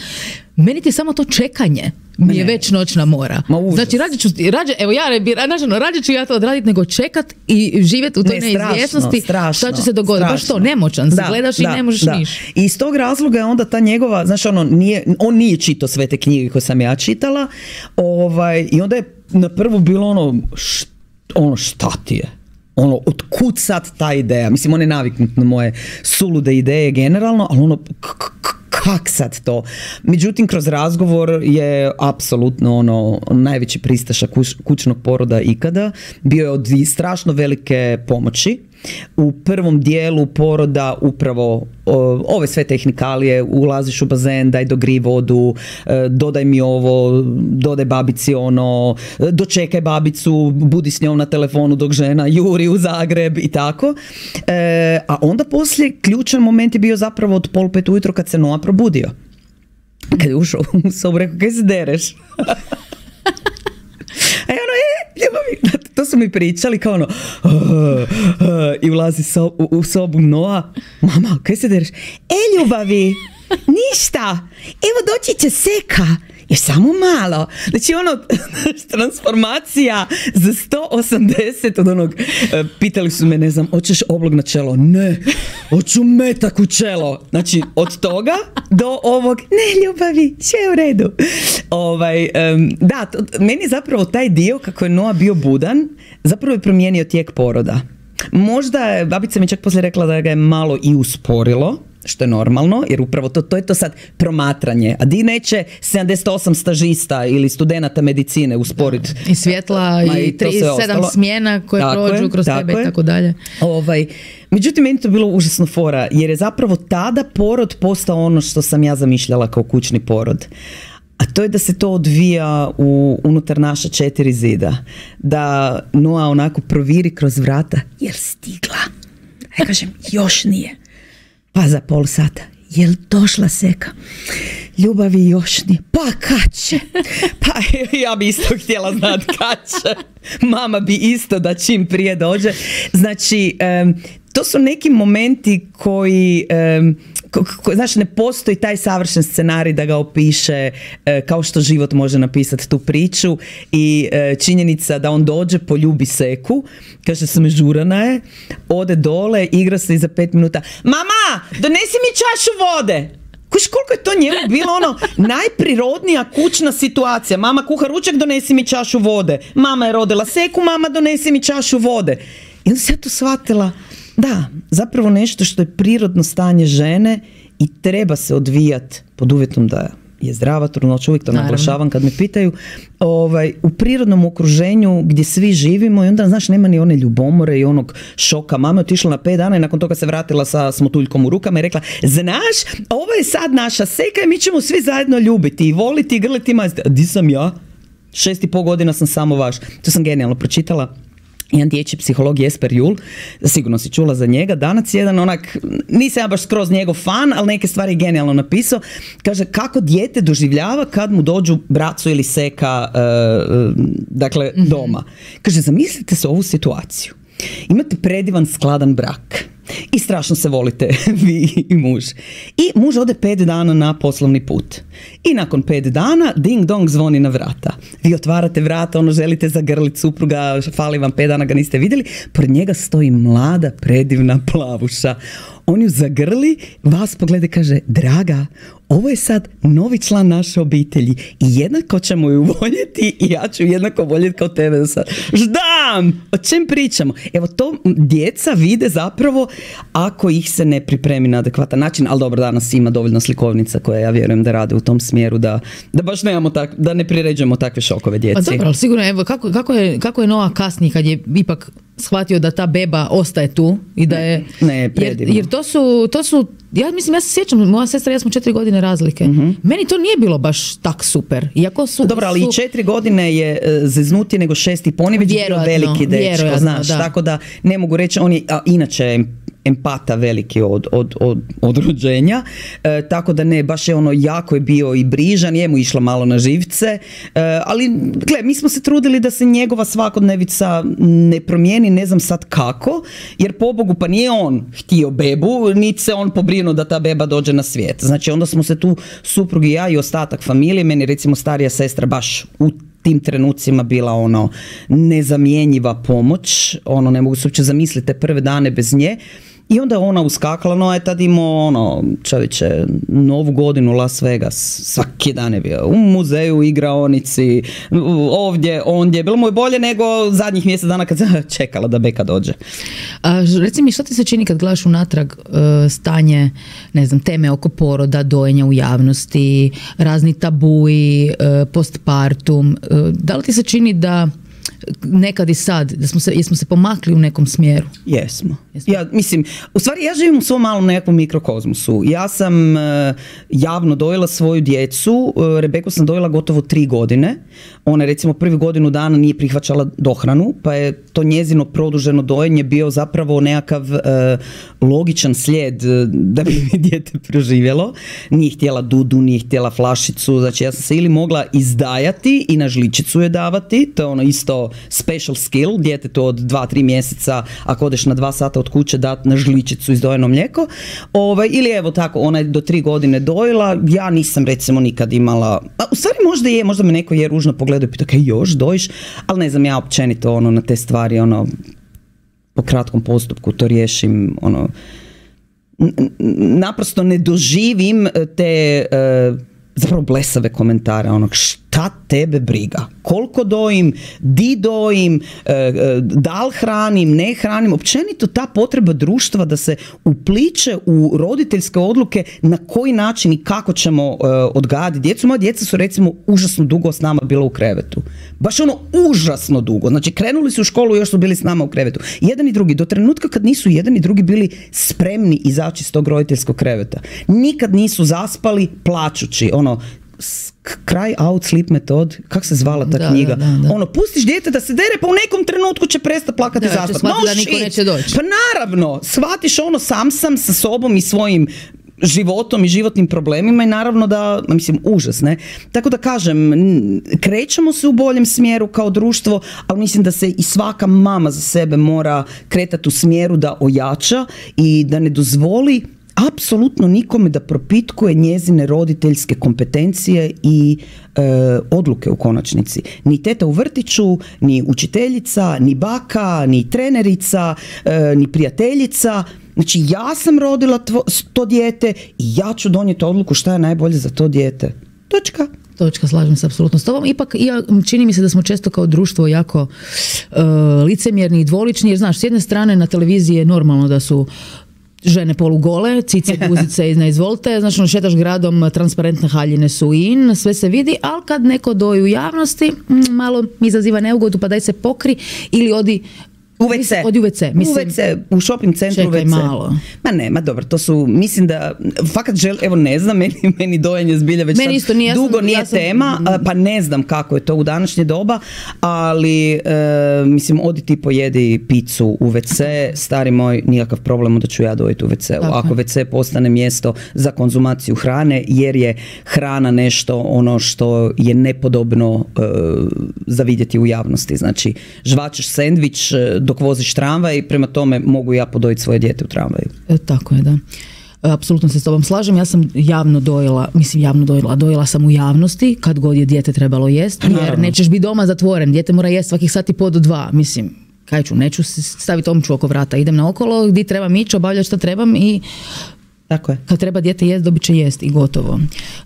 meni ti je samo to čekanje mi je već noćna mora. Znači rađe ću, rađe, evo ja ne bi, nažalost, rađe ću ja to odraditi nego čekat i živjeti u toj ne, neizvjesnosti strašno, šta će se dogoditi. Baš to, nemoćan, da, gledaš da, i ne možeš da. niš. I iz tog razloga je onda ta njegova, znaš ono, nije, on nije čitao sve te knjige koje sam ja čitala, ovaj, i onda je na prvu bilo ono, št, ono šta ti je? Ono, otkud sad ta ideja? Mislim, on je naviknut na moje sulude ideje generalno, ali ono, kak sad to? Međutim, kroz razgovor je apsolutno ono najveći pristaša kuć, kućnog poroda ikada. Bio je od strašno velike pomoći. U prvom dijelu poroda upravo o, ove sve tehnikalije, ulaziš u bazen, daj dogri vodu, e, dodaj mi ovo, dodaj babici ono, dočekaj babicu, budi s njom na telefonu dok žena juri u Zagreb i tako. E, a onda poslije ključan moment je bio zapravo od pol pet ujutro kad se Noa probudio. Kad je ušao u sobu, rekao, kaj se dereš? A ono, e, ljubavi, to su mi pričali kao ono, uh, uh, i ulazi so, u, u sobu Noa, mama, kaj se dereš? E, ljubavi, ništa, evo doći će Seka, je samo malo. Znači ono, transformacija za sto osamdeset od onog, pitali su me, ne znam, hoćeš oblog na čelo? Ne, hoću metak u čelo. Znači, od toga do ovog, ne ljubavi, sve je u redu. Ovaj, um, da, to, meni zapravo taj dio, kako je Noa bio budan, zapravo je promijenio tijek poroda. Možda je, babica mi čak poslije rekla da ga je malo i usporilo, što je normalno, jer upravo to, to je to sad promatranje. A di neće sedamdeset osam stažista ili studenata medicine usporiti. I svjetla ma, i, i tri, sedam smjena koje tako prođu je, kroz tebe je. I tako dalje. Ovaj, međutim, meni to bilo užasno fora, jer je zapravo tada porod postao ono što sam ja zamišljala kao kućni porod. A to je da se to odvija u, unutar naša četiri zida. Da Noa onako proviri kroz vrata, jer stigla. Ja kažem, još nije. Pa za pol sata, jel došla Seka? Ljubavi još nije. Pa kad će? Pa ja bi isto htjela znati kad će. Mama bi isto da čim prije dođe. Znači, um, to su neki momenti koji... Um, Ko, ko, znaš, ne postoji taj savršen scenarij da ga opiše e, kao što život može napisati tu priču i e, činjenica da on dođe, poljubi Seku, kaže smežurana je, ode dole, igra se i za pet minuta, mama, donesi mi čašu vode. Kuš, koliko je to njemu bilo ono najprirodnija kućna situacija. Mama kuha ručak, donesi mi čašu vode. Mama je rodila Seku, mama donesi mi čašu vode. I onda se ja to shvatila, da, zapravo nešto što je prirodno stanje žene i treba se odvijati pod uvjetom da je zdrava trudnoća, uvijek to Naravno. naglašavam kad me pitaju, ovaj, u prirodnom okruženju gdje svi živimo i onda, znaš, nema ni one ljubomore i onog šoka. Mama je otišla na pet dana i nakon toga se vratila sa smotuljkom u rukama i rekla, znaš, ovo je sad naša Seka i mi ćemo svi zajedno ljubiti i voliti i grliti i maziti. A di sam ja? Šest i pol godina sam samo vaš. To sam genijalno pročitala. Jedan dječji psiholog Jesper Juhl, sigurno si čula za njega, danas jedan onak, nisam ja baš skroz njegov fan, ali neke stvari je genijalno napisao, kaže kako dijete doživljava kad mu dođu braco ili Seka uh, dakle mm-hmm. doma. Kaže, zamislite se ovu situaciju. Imate predivan skladan brak i strašno se volite vi i muž. I muž ode pet dana na poslovni put. I nakon pet dana ding dong zvoni na vrata. Vi otvarate vrata, ono želite zagrliti supruga, fali vam pet dana, ga niste vidjeli. Pored njega stoji mlada, predivna plavuša. On ju zagrli, vas pogleda i kaže, draga, ovo je sad novi član naše obitelji i jednako ćemo ju voljeti i ja ću jednako voljeti kao tebe do sad. Ždam! O čem pričamo? Evo to djeca vide zapravo ako ih se ne pripremi na adekvatan način, ali dobro, danas ima dovoljno slikovnica koje ja vjerujem da rade u tom smjeru da, da baš nemamo tak, da ne priređujemo takve šokove djeci. A dobro, ali sigurno, evo, kako, kako, je, kako je Noa kasnije kad je ipak shvatio da ta beba ostaje tu i da je... Ne, jer, jer to su, to su, ja mislim, ja se sjećam, moja sestra i ja smo četiri godine razlike. Mm-hmm. Meni to nije bilo baš tak super. Iako su... Dobro, ali su... i četiri godine je zeznutije nego šest i pol, on je već bio veliki dečko, znaš, da. Tako da ne mogu reći, on je, a, inače empata veliki od, od, od, od rođenja, e, tako da ne, baš je ono, jako je bio i brižan, je mu išla malo na živce, e, ali gle, mi smo se trudili da se njegova svakodnevica ne promijeni, ne znam sad kako, jer pobogu pa nije on htio bebu, niti se on pobrinuo da ta beba dođe na svijet. Znači onda smo se tu, suprug i ja i ostatak familije, meni recimo starija sestra baš u tim trenucima bila ono nezamjenjiva pomoć, ono ne mogu se uopće zamisliti te prve dane bez nje. I onda je ona uskakala, no je tad imao ono, čovječe, novu godinu Las Vegas, svaki dan je bio u muzeju, igraonici, ovdje, ondje, bilo mu je bolje nego zadnjih mjesec dana kad se čekala da beka dođe. A, reci mi, što ti se čini kad gledaš unatrag uh, stanje, ne znam, teme oko poroda, dojenja u javnosti, razni tabuji, uh, postpartum, uh, da li ti se čini da nekad i sad, da smo se, jesmo se pomakli u nekom smjeru? Jesmo. Jesmo. Ja, mislim, u stvari ja živim u svom malom nekakvom mikrokozmosu. Ja sam uh, javno dojela svoju djecu, uh, Rebeku sam dojela gotovo tri godine. Ona recimo prvi godinu dana nije prihvaćala dohranu, pa je to njezino produženo dojenje bio zapravo nekakav uh, logičan slijed uh, da bi mi dijete preživjelo. Nije htjela dudu, nije htjela flašicu, znači ja sam se ili mogla izdajati i na žličicu je davati, to je ono isto special skill, djetetu od dva, tri mjeseca, ako odeš na dva sata od kuće, dati na žličicu izdojeno mlijeko. Ovaj, ili evo tako, ona je do tri godine dojela, ja nisam recimo nikad imala, a u stvari možda je, možda me neko je ružno pogledao i pitao, kaj još dojiš, ali ne znam, ja općenito ono, na te stvari, ono, po kratkom postupku to riješim, ono, naprosto ne doživim te uh, zapravo blesave komentare, ono, šta tebe briga, koliko dojim, di dojim, da li hranim, ne hranim, općenito ta potreba društva da se upliče u roditeljske odluke na koji način i kako ćemo odgajati djecu. Moja djeca su recimo užasno dugo s nama bila u krevetu, baš ono užasno dugo, znači krenuli su u školu i još su bili s nama u krevetu, jedan i drugi, do trenutka kad nisu jedan i drugi bili spremni izaći iz tog roditeljskog kreveta, nikad nisu zaspali plačući, ono, Cry Out Sleep Method, kako se zvala ta da, knjiga, da, da, da. ono, pustiš dijete da se dere, pa u nekom trenutku će prestati plakati i zaspati. No da niko neće doći. Pa naravno, shvatiš ono, sam sam sa sobom i svojim životom i životnim problemima i naravno da, mislim, užas, ne? Tako da kažem, krećemo se u boljem smjeru kao društvo, ali mislim da se i svaka mama za sebe mora kretati u smjeru da ojača i da ne dozvoli apsolutno nikome da propitkuje njezine roditeljske kompetencije i e, odluke u konačnici. Ni teta u vrtiću, ni učiteljica, ni baka, ni trenerica, e, ni prijateljica. Znači ja sam rodila tvo, to dijete i ja ću donijeti odluku šta je najbolje za to dijete. Točka. Točka, slažem se apsolutno s tobom. Ipak ja, čini mi se da smo često kao društvo jako uh, licemjerni i dvolični, jer znaš, s jedne strane na televiziji je normalno da su žene polugole, cice, guzice i izvolite, znači ono, šetaš gradom, transparentne haljine su in, sve se vidi, ali kad neko doji u javnosti, malo mi izaziva neugodu, pa daj se pokri ili odi u ve ce. Odi u ve ce. Mislim, u ve ce, u shopping centru u ve ce. Malo. Ma ne, ma dobro, to su, mislim da, fakat žel, evo ne znam, meni, meni dojenje zbilja već meni isto, nije, dugo sam, nije ja sam, tema, pa ne znam kako je to u današnje doba, ali e, mislim, odi ti pojedi picu u ve ce, stari moj, nikakav problem da ću ja dojeti u ve ce. Ako ve ce postane mjesto za konzumaciju hrane, jer je hrana nešto ono što je nepodobno e, za vidjeti u javnosti. Znači, žvačeš sendvič dok voziš tramvaj, prema tome mogu ja podojiti svoje dijete u tramvaju. E, tako je, da. Apsolutno se s tobom slažem. Ja sam javno dojela, mislim javno dojela, dojela sam u javnosti kad god je dijete trebalo jest, jer naravno, nećeš biti doma zatvoren, dijete mora jest svakih sati po do dva, mislim, kaj ću, neću staviti omču oko vrata, idem naokolo, gdje trebam ići, obavljati što trebam i tako je. Kad treba dijete jest, dobit će jest i gotovo.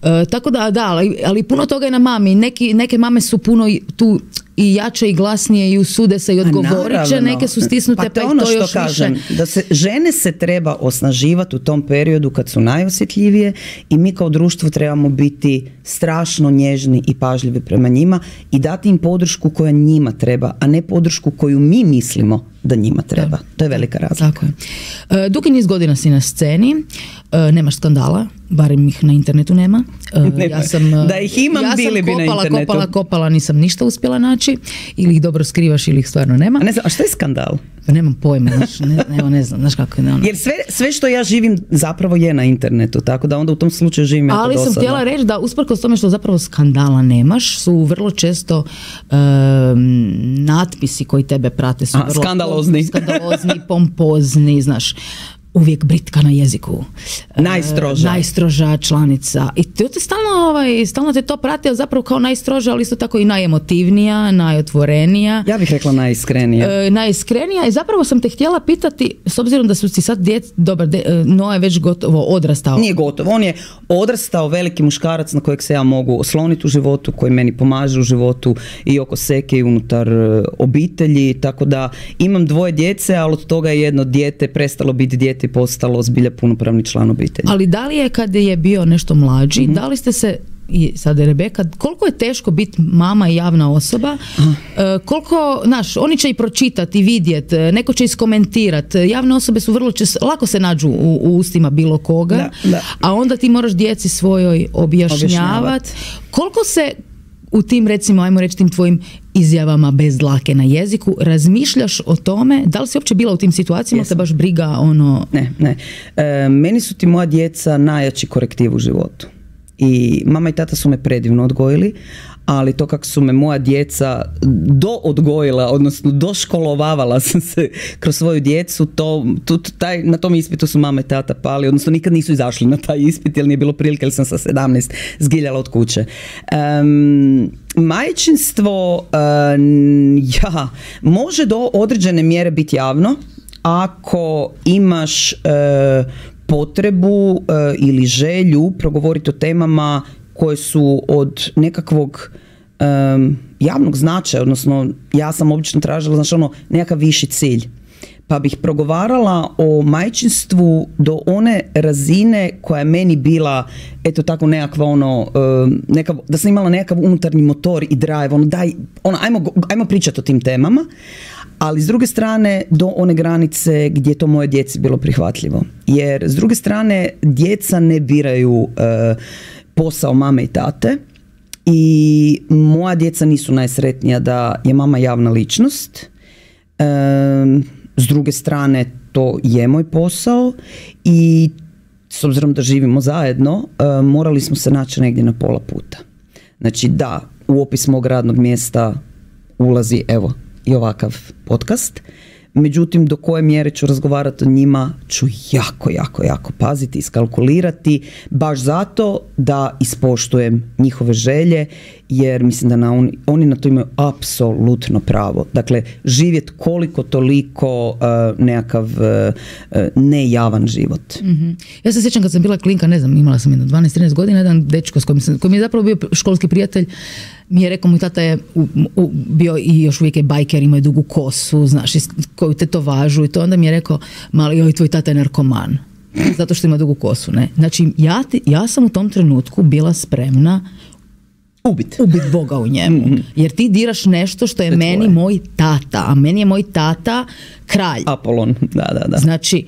E, tako da, da, ali, ali puno toga je na mami. Neki, neke mame su puno tu i jače i glasnije i usude se i odgovorit će, neke su stisnute, pa, pa to ono to još što kažem, više. Da se žene se treba osnaživati u tom periodu kad su najosjetljivije i mi kao društvo trebamo biti strašno nježni i pažljivi prema njima i dati im podršku koja njima treba, a ne podršku koju mi mislimo da njima treba. Da. To je velika razlika. Tako je. E, dugi niz godina si na sceni, e, nemaš skandala, barem ih na internetu nema. Uh, ja sam, da ih imam, ja bili bi kopala, na internetu. kopala, kopala, nisam ništa uspjela naći. Ili ih dobro skrivaš ili ih stvarno nema. A, ne znam, a što je skandal? Pa nemam pojma, znaš, ne, ne, ne znam, znaš kako je. Ono. Jer sve, sve što ja živim zapravo je na internetu, tako da onda u tom slučaju živim jako ali dosadno. sam htjela reći da usprkos tome što zapravo skandala nemaš, su vrlo često um, natpisi koji tebe prate su A, vrlo skandalozni. skandalozni, pompozni, znaš, uvijek britka na jeziku. Najstroža. E, najstroža članica. I to te stalno, ovaj, stalno te to prati, ali zapravo kao najstroža, ali isto tako i najemotivnija, najotvorenija. Ja bih rekla najiskrenija. E, najiskrenija i zapravo sam te htjela pitati, s obzirom da su ti sad djec, dobar, de, Noa je već gotovo odrastao. Nije gotovo, on je odrastao veliki muškarac na kojeg se ja mogu osloniti u životu, koji meni pomaže u životu i oko seke i unutar obitelji, tako da imam dvoje djece, ali od toga je jedno dijete prestalo biti dijete i postalo zbilja punopravni član obitelji. Ali da li je kad je bio nešto mlađi, mm-hmm. da li ste se, i sad je Rebeka, koliko je teško biti mama i javna osoba, e, koliko, znaš, oni će i pročitati, vidjeti, neko će iskomentirati, javne osobe su vrlo često, lako se nađu u, u ustima bilo koga, da, da. a onda ti moraš djeci svojoj objašnjavati. Koliko se u tim, recimo, ajmo reći, tim tvojim izjavama bez dlake na jeziku, razmišljaš o tome, da li si uopće bila u tim situacijama, te baš briga ono... Ne, ne. E, meni su ti moja djeca najjači korektiv u životu. I mama i tata su me predivno odgojili, ali to kako su me moja djeca doodgojila, odnosno doškolovavala sam se kroz svoju djecu, to, to, taj, na tom ispitu su mama i tata pali, odnosno nikad nisu izašli na taj ispit, jer nije bilo prilike, jer sam sa sedamnaest zgiljala od kuće. Um, majčinstvo um, ja, može do određene mjere biti javno, ako imaš uh, potrebu uh, ili želju progovoriti o temama koje su od nekakvog um, javnog značaja, odnosno ja sam obično tražila, znači ono, nekakav viši cilj. Pa bih progovarala o majčinstvu do one razine koja je meni bila, eto tako nekakva ono, um, nekav, da sam imala nekakav unutarnji motor i drive, ono daj, ono, ajmo, ajmo pričati o tim temama, ali s druge strane do one granice gdje je to moje djeci bilo prihvatljivo. Jer s druge strane djeca ne biraju uh, posao mame i tate i moja djeca nisu najsretnija da je mama javna ličnost. Um, s druge strane to je moj posao i s obzirom da živimo zajedno uh, morali smo se naći negdje na pola puta. Znači da, u opis mog radnog mjesta ulazi evo i ovakav podcast. Međutim, do koje mjere ću razgovarati o njima ću jako, jako, jako paziti, iskalkulirati, baš zato da ispoštujem njihove želje, jer mislim da na oni, oni na to imaju apsolutno pravo. Dakle, živjeti koliko toliko uh, nekakav uh, nejavan život. Mm-hmm. Ja se sjećam kad sam bila klinka, ne znam, imala sam jedno dvanaest trinaest godina, jedan dečko s kojim, sam, koji mi je zapravo bio školski prijatelj, mi je rekao, moj tata je u, u, bio i još uvijek je bajker, ima je dugu kosu, znaš, koju tetovažu i to, onda mi je rekao, mali, joj, tvoj tata je narkoman, zato što ima dugu kosu, ne. Znači, ja, ti, ja sam u tom trenutku bila spremna ubit, ubit Boga u njemu, mm-hmm. jer ti diraš nešto što je, je meni tvoje. Moj tata, a meni je moj tata kralj. Apolon, da, da, da. Znači,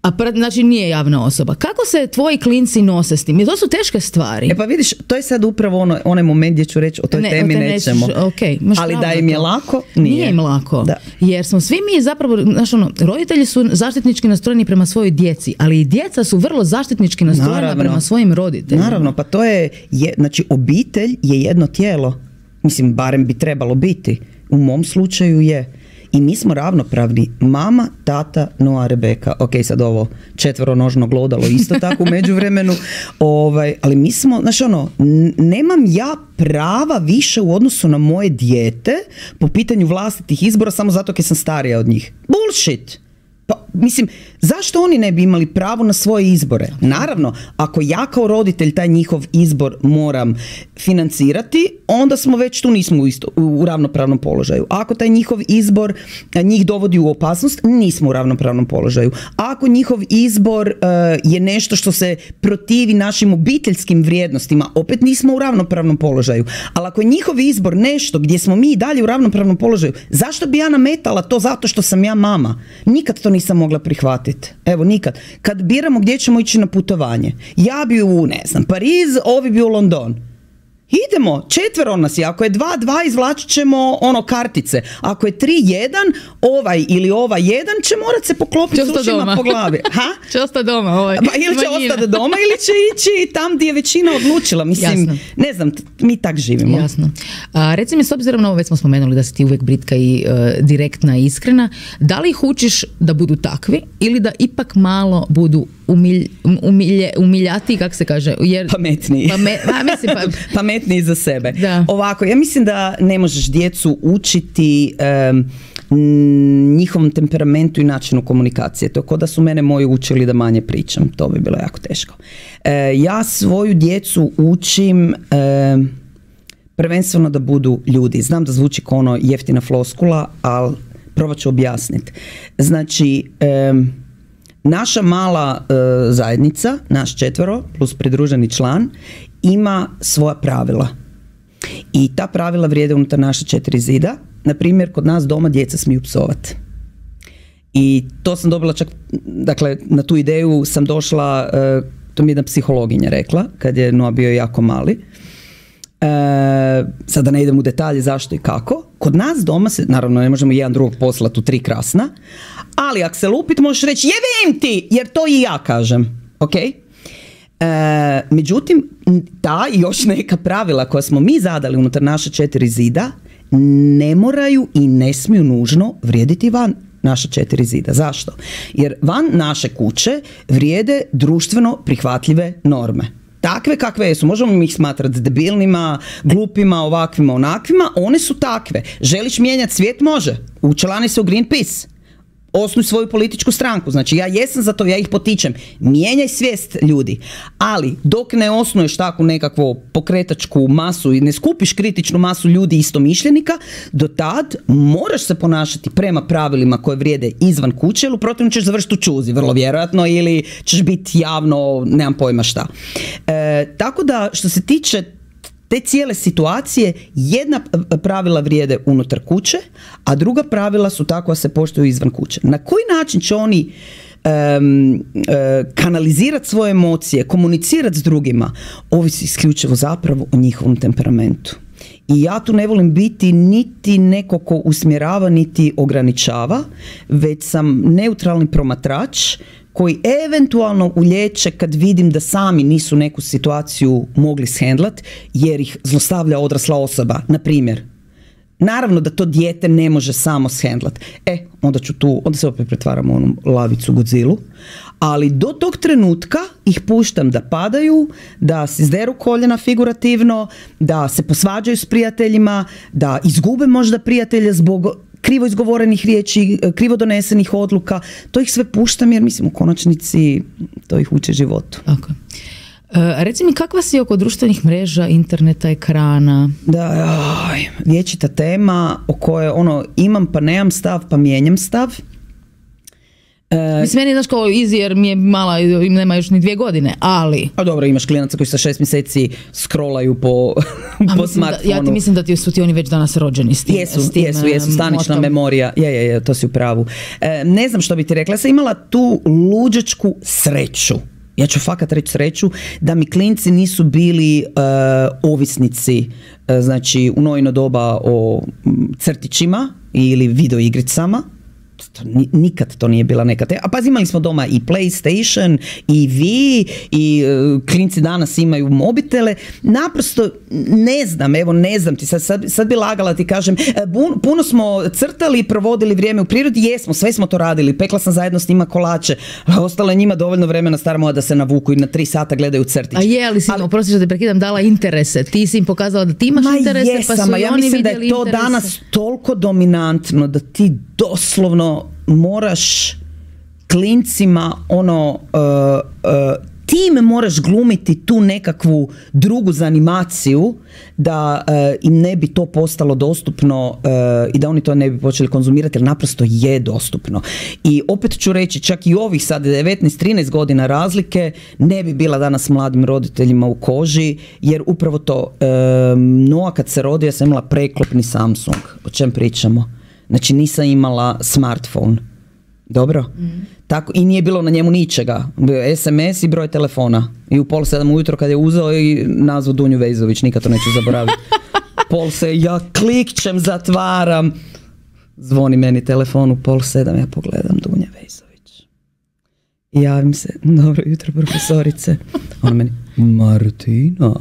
a pred, znači nije javna osoba. Kako se tvoji klinci nose s tim? Jer to su teške stvari. E pa vidiš, to je sad upravo ono, onaj moment gdje ću reći o toj ne, temi nećemo. Okay, ali da im je lako, nije. Nije im lako. Da. Jer smo svi mi zapravo, znaš ono, roditelji su zaštitnički nastrojeni prema svojoj djeci, ali i djeca su vrlo zaštitnički nastrojena Naravno. Prema svojim roditeljima. Naravno, pa to je, je, znači obitelj je jedno tijelo. Mislim, barem bi trebalo biti. U mom slučaju je. I mi smo ravnopravni. Mama, tata, Noa, Rebeka. Ok, sad ovo četveronožno glodalo isto tako u međuvremenu. Ovaj, ali mi smo, znaš ono, nemam ja prava više u odnosu na moje dijete po pitanju vlastitih izbora samo zato jer sam starija od njih. Bullshit! Pa, mislim, zašto oni ne bi imali pravo na svoje izbore? Naravno, ako ja kao roditelj taj njihov izbor moram financirati, onda smo već tu nismo u, isto, u ravnopravnom položaju. Ako taj njihov izbor njih dovodi u opasnost, nismo u ravnopravnom položaju. Ako njihov izbor uh, je nešto što se protivi našim obiteljskim vrijednostima, opet nismo u ravnopravnom položaju. Ali ako je njihov izbor nešto gdje smo mi dalje u ravnopravnom položaju, zašto bi ja nametala to zato što sam ja mama? Nikad to nisam mogla prihvatiti. Evo, nikad. Kad biramo gdje ćemo ići na putovanje, ja bi u, ne znam, Pariz, ovi bi u London. Idemo, četvero nas je, ako je dva dva izvlačit ćemo ono kartice, ako je tri jedan, ovaj ili ova jedan će morat se poklopiti s ušima po glavi. Ha? Će ostati doma. Ovaj. Pa, ili će ostati doma ili će ići tam gdje je većina odlučila. Mislim, jasno. Ne znam, mi tak živimo. Jasno. A, reci mi, s obzirom na ovo, već smo spomenuli da si ti uvijek britka i uh, direktna i iskrena, da li ih učiš da budu takvi ili da ipak malo budu umilj, umilje, umiljati, kako se kaže? Jer, pametniji. Pame, a, mislim, pa, pametniji za sebe. Da. Ovako, ja mislim da ne možeš djecu učiti um, njihovom temperamentu i načinu komunikacije. To je kao da su mene moji učili da manje pričam. To bi bilo jako teško. E, ja svoju djecu učim e, prvenstveno da budu ljudi. Znam da zvuči kao ono jeftina floskula, ali probat ću objasniti. Znači, e, naša mala e, zajednica, naš četvero plus pridruženi član, ima svoja pravila. I ta pravila vrijede unutar naša četiri zida. Na primjer, kod nas doma djeca smiju psovati. I to sam dobila čak, dakle, na tu ideju sam došla, e, to mi je jedna psihologinja rekla, kad je Noa bio jako mali. E, sada ne idem u detalje zašto i kako. Kod nas doma se, naravno ne možemo jedan drugog poslati u tri krasna, ali ako se lupit možeš reći jebem ti, jer to i ja kažem. Ok? E, međutim, ta i još neka pravila koja smo mi zadali unutar naše četiri zida ne moraju i ne smiju nužno vrijediti van naša četiri zida. Zašto? Jer van naše kuće vrijede društveno prihvatljive norme. Takve kakve jesu, možemo mi ih smatrati debilnima, glupima, ovakvima, onakvima, one su takve. Želiš mijenjati svijet? Može. Učlani se u Greenpeace. Osnuj svoju političku stranku. Znači, ja jesam za to, ja ih potičem. Mijenjaj svijest ljudi. Ali, dok ne osnuješ takvu nekakvu pokretačku masu i ne skupiš kritičnu masu ljudi istomišljenika, do tad moraš se ponašati prema pravilima koje vrijede izvan kuće, ili u protivnom ćeš završiti u čuzi, vrlo vjerojatno, ili ćeš biti javno, nemam pojma šta. E, tako da, što se tiče te cijele situacije, jedna pravila vrijede unutar kuće, a druga pravila su takva se poštuju izvan kuće. Na koji način će oni um, uh, kanalizirati svoje emocije, komunicirati s drugima, ovisi isključivo zapravo o njihovom temperamentu. I ja tu ne volim biti niti neko ko usmjerava, niti ograničava, već sam neutralni promatrač koji eventualno ulječe kad vidim da sami nisu neku situaciju mogli shendlat jer ih zlostavlja odrasla osoba, na primjer. Naravno da to dijete ne može samo shendlat. E, onda ću tu, onda se opet pretvaram u onu lavicu Godzilu, ali do tog trenutka ih puštam da padaju, da se izderu koljena figurativno, da se posvađaju s prijateljima, da izgube možda prijatelje zbog krivo izgovorenih riječi, krivo donesenih odluka. To ih sve puštam jer mislim u konačnici to ih uči životu. Okay. E, reci mi, kakva si oko društvenih mreža, interneta, ekrana? Da, oj, vječita tema o kojoj ono, imam pa nemam stav pa mijenjam stav. E, Mislim, meni je, znaš, kao easy jer mi je mala, nema još ni dvije godine, ali... A dobro, imaš klinaca koji sa šest mjeseci scrollaju po, po smartfonu. Da, ja ti mislim da ti su ti oni već danas rođeni s tim. Jesu, s tim, jesu, jesu, stanična motom. memorija. Je, je, je, to si u pravu. E, ne znam što bi ti rekla, ja sam imala tu luđačku sreću. Ja ću fakat reći sreću da mi klinci nisu bili uh, ovisnici, uh, znači u Noino doba o crtićima ili videoigricama. To, nikad to nije bila neka te... A pazi, imali smo doma i PlayStation, i vi, i uh, klinci danas imaju mobitele. Naprosto ne znam, evo ne znam ti, sad, sad, sad bi lagala ti kažem, bun, puno smo crtali i provodili vrijeme u prirodi, jesmo, sve smo to radili, pekla sam zajedno s njima kolače, a ostalo je njima dovoljno vremena stara moja da se navuku i na tri sata gledaju crtić. A je, ali si, ali, oprosti što te prekidam, dala interese, ti si im pokazala da ti imaš ma interese, jesam, pa su i ja oni mislim vidjeli da je to interese. Danas toliko dominantno da ti doslovno moraš klincima ono uh, uh, tim moraš glumiti tu nekakvu drugu zanimaciju da uh, im ne bi to postalo dostupno uh, i da oni to ne bi počeli konzumirati, jer naprosto je dostupno. I opet ću reći, čak i ovih sad devetnaest trinaest godina razlike ne bi bila danas mladim roditeljima u koži, jer upravo to um, Noa kad se rodio ja sam imala preklopni Samsung. O čem pričamo? Znači nisam imala smartphone. Dobro. Mm. Tako, i nije bilo na njemu ničega. Bio je es em es i broj telefona. I u pol sedam ujutro kad je uzeo i nazvao Dunju Vejzović, nikad to neću zaboraviti. Pol se, ja klikćem, zatvaram. Zvoni meni telefon u pol sedam, ja pogledam Dunja Vejzović. I javim se, dobro jutro profesorice. Ona meni, Martina,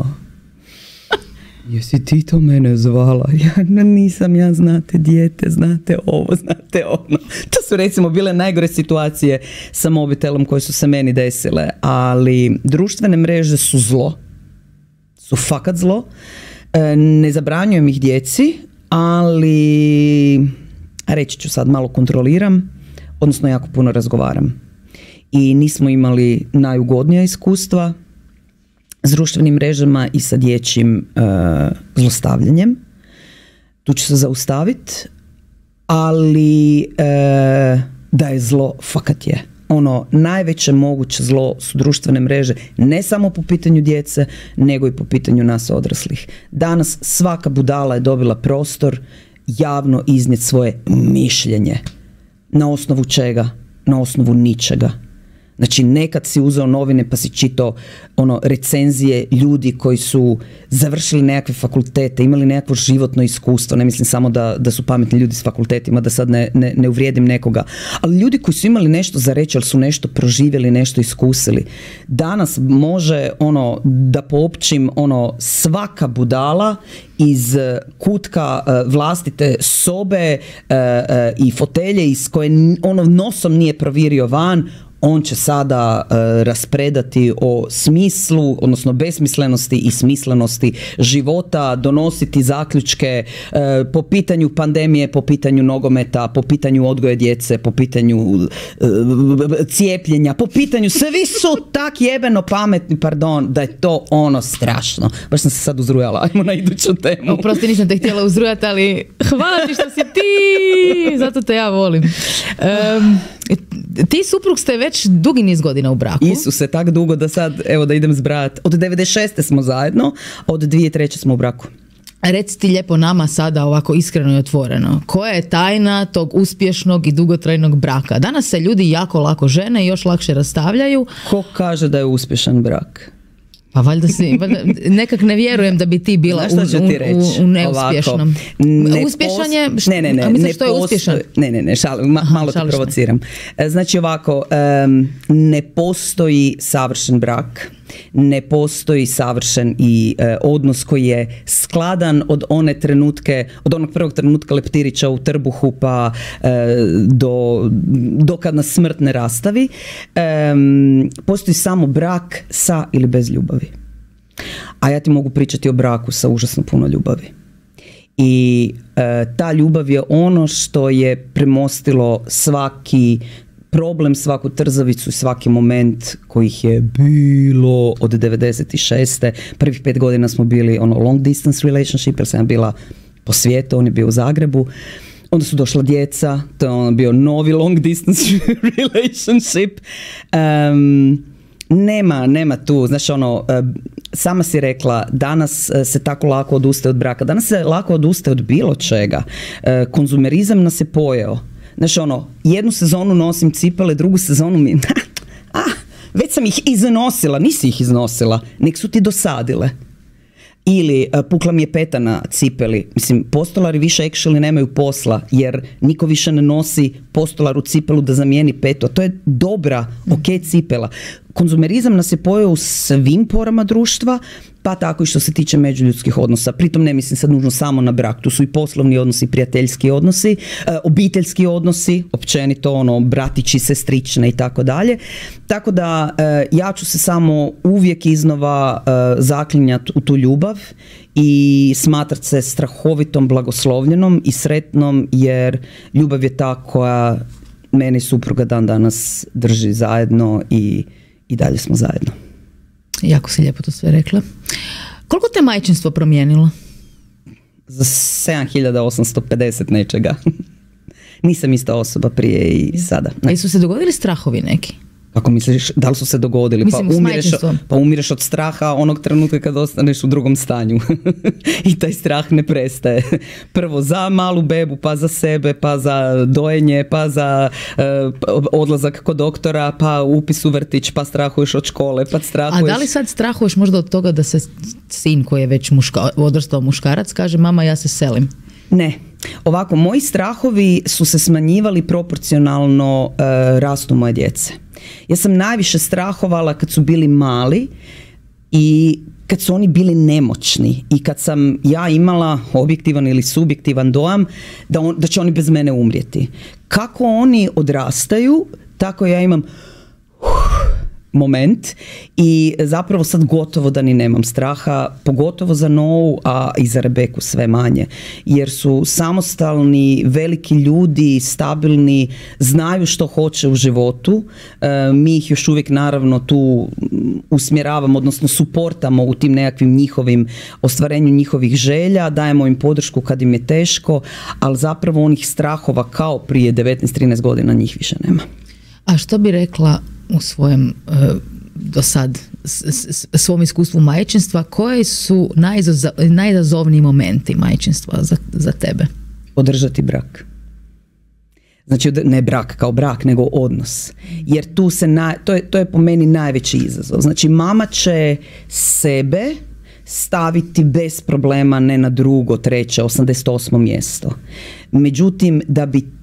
jesi ti to mene zvala? Ja nisam, ja znate dijete, znate ovo, znate ono. To su recimo bile najgore situacije sa mobitelom koje su se meni desile, ali društvene mreže su zlo. Su fakat zlo. Ne zabranjujem ih djeci, ali reći ću sad, malo kontroliram, odnosno jako puno razgovaram. I nismo imali najugodnija iskustva s društvenim mrežama i sa dječjim uh, zlostavljanjem. Tu ću se zaustaviti, ali uh, da je zlo, fakat je. Ono, najveće moguće zlo su društvene mreže, ne samo po pitanju djece, nego i po pitanju nas odraslih. Danas svaka budala je dobila prostor javno iznijeti svoje mišljenje. Na osnovu čega? Na osnovu ničega. Znači, nekad si uzeo novine pa si čitao ono, recenzije ljudi koji su završili nekakve fakultete, imali nekakvo životno iskustvo, ne mislim samo da, da su pametni ljudi s fakultetima, da sad ne, ne, ne uvrijedim nekoga, ali ljudi koji su imali nešto za reći, ali su nešto proživjeli, nešto iskusili. Danas može ono, da poopćim ono, svaka budala iz kutka uh, vlastite sobe uh, uh, i fotelje iz koje ono nosom nije provirio van, on će sada uh, raspredati o smislu, odnosno besmislenosti i smislenosti života, donositi zaključke uh, po pitanju pandemije, po pitanju nogometa, po pitanju odgoja djece, po pitanju uh, cijepljenja, po pitanju, svi su tak jebeno pametni, pardon, da je to ono strašno. Baš sam se sad uzrujala, ajmo na iduću temu. Oprosti, nisam te htjela uzrujati, ali hvala ti što si ti, zato te ja volim. Um, ti suprug ste već dugi niz godina u braku. Isuse, tak dugo da sad, evo da idem zbrajati. Od devedeset šeste smo zajedno, od dvije tisuće treće smo u braku. Reci ti lijepo nama sada ovako iskreno i otvoreno. Koja je tajna tog uspješnog i dugotrajnog braka? Danas se ljudi jako lako žene i još lakše rastavljaju. Ko kaže da je uspješan brak? Pa valjda si, valjda, nekak ne vjerujem da bi ti bila u, u, u neuspješnom. Ne uspješan je, šta, ne, ne, ne, misliš ne što je uspješan? Ne, ne, ne, šal, ma, Aha, malo te provociram. Me. Znači ovako, um, ne postoji savršen brak, ne postoji savršen i uh, odnos koji je skladan od one trenutke, od onog prvog trenutka leptirića u trbuhu pa uh, do, do kad nas smrt ne rastavi. Um, postoji samo brak sa ili bez ljubavi. A ja ti mogu pričati o braku sa užasno puno ljubavi. I uh, ta ljubav je ono što je premostilo svaki problem, svaku trzavicu, svaki moment kojih je bilo od devedeset šeste. Prvih pet godina smo bili ono long distance relationship, jer sam ja bila po svijetu, on je bio u Zagrebu. Onda su došla djeca, to je ono bio novi long distance relationship. Um, nema, nema tu, znaš ono, sama si rekla, danas se tako lako odustaje od braka, danas se lako odustaje od bilo čega. Konzumerizam nas je pojeo. Znači ono, jednu sezonu nosim cipele, drugu sezonu mi, ah, već sam ih iznosila, nisi ih iznosila, nek su ti dosadile. Ili uh, pukla mi je peta na cipeli. Mislim, postolari više actually nemaju posla, jer niko više ne nosi postolaru cipelu da zamijeni petu. A to je dobra, ok cipela. Konzumerizam nas je pojeo u svim porama društva, pa tako i što se tiče međuljudskih odnosa. Pritom ne mislim sad nužno samo na brak, tu su i poslovni odnosi, prijateljski odnosi, e, obiteljski odnosi, općenito ono, bratići, sestrične i tako dalje. Tako da e, ja ću se samo uvijek iznova e, zaklinjati u tu ljubav i smatrat se strahovitom blagoslovljenom i sretnom, jer ljubav je ta koja mene i supruga dan danas drži zajedno i, i dalje smo zajedno. Jako si lijepo to sve rekla. Koliko te majčinstvo promijenilo? Za sedam hiljada osamsto pedeset nečega. Nisam ista osoba prije i sada. Ne. A su se dogodili strahovi neki? Kako misliš, da li su se dogodili? Mislim, pa, umireš, pa umireš od straha onog trenutka kad ostaneš u drugom stanju. I taj strah ne prestaje. Prvo za malu bebu, pa za sebe, pa za dojenje, pa za uh, odlazak kod doktora, pa upis u vrtić, pa strahuješ od škole, pa strahuješ... A da li sad strahuješ možda od toga da se sin koji je već muška, odrastao muškarac kaže mama ja se selim? Ne. Ovako, moji strahovi su se smanjivali proporcionalno uh, rastu moje djece. Ja sam najviše strahovala kad su bili mali i kad su oni bili nemoćni i kad sam ja imala objektivan ili subjektivan dojam da, on, da će oni bez mene umrijeti. Kako oni odrastaju, tako ja imam uh, moment i zapravo sad gotovo da ni nemam straha, pogotovo za Novu, a i za Rebeku sve manje, jer su samostalni, veliki ljudi, stabilni, znaju što hoće u životu. E, mi ih još uvijek naravno tu usmjeravamo, odnosno suportamo u tim nekakvim njihovim ostvarenju njihovih želja, dajemo im podršku kad im je teško, ali zapravo onih strahova kao prije devetnaest trinaest godina njih više nema. A što bi rekla u svojem uh, do sad s, s, svom iskustvu majčinstva, koji su najizazov, najizazovniji momenti majčinstva za, za tebe? Održati brak. Znači ne brak kao brak, nego odnos. Jer tu se na, to, je, to je po meni najveći izazov. Znači mama će sebe staviti bez problema ne na drugo, treće, osamdeset osmo mjesto. Međutim, da bi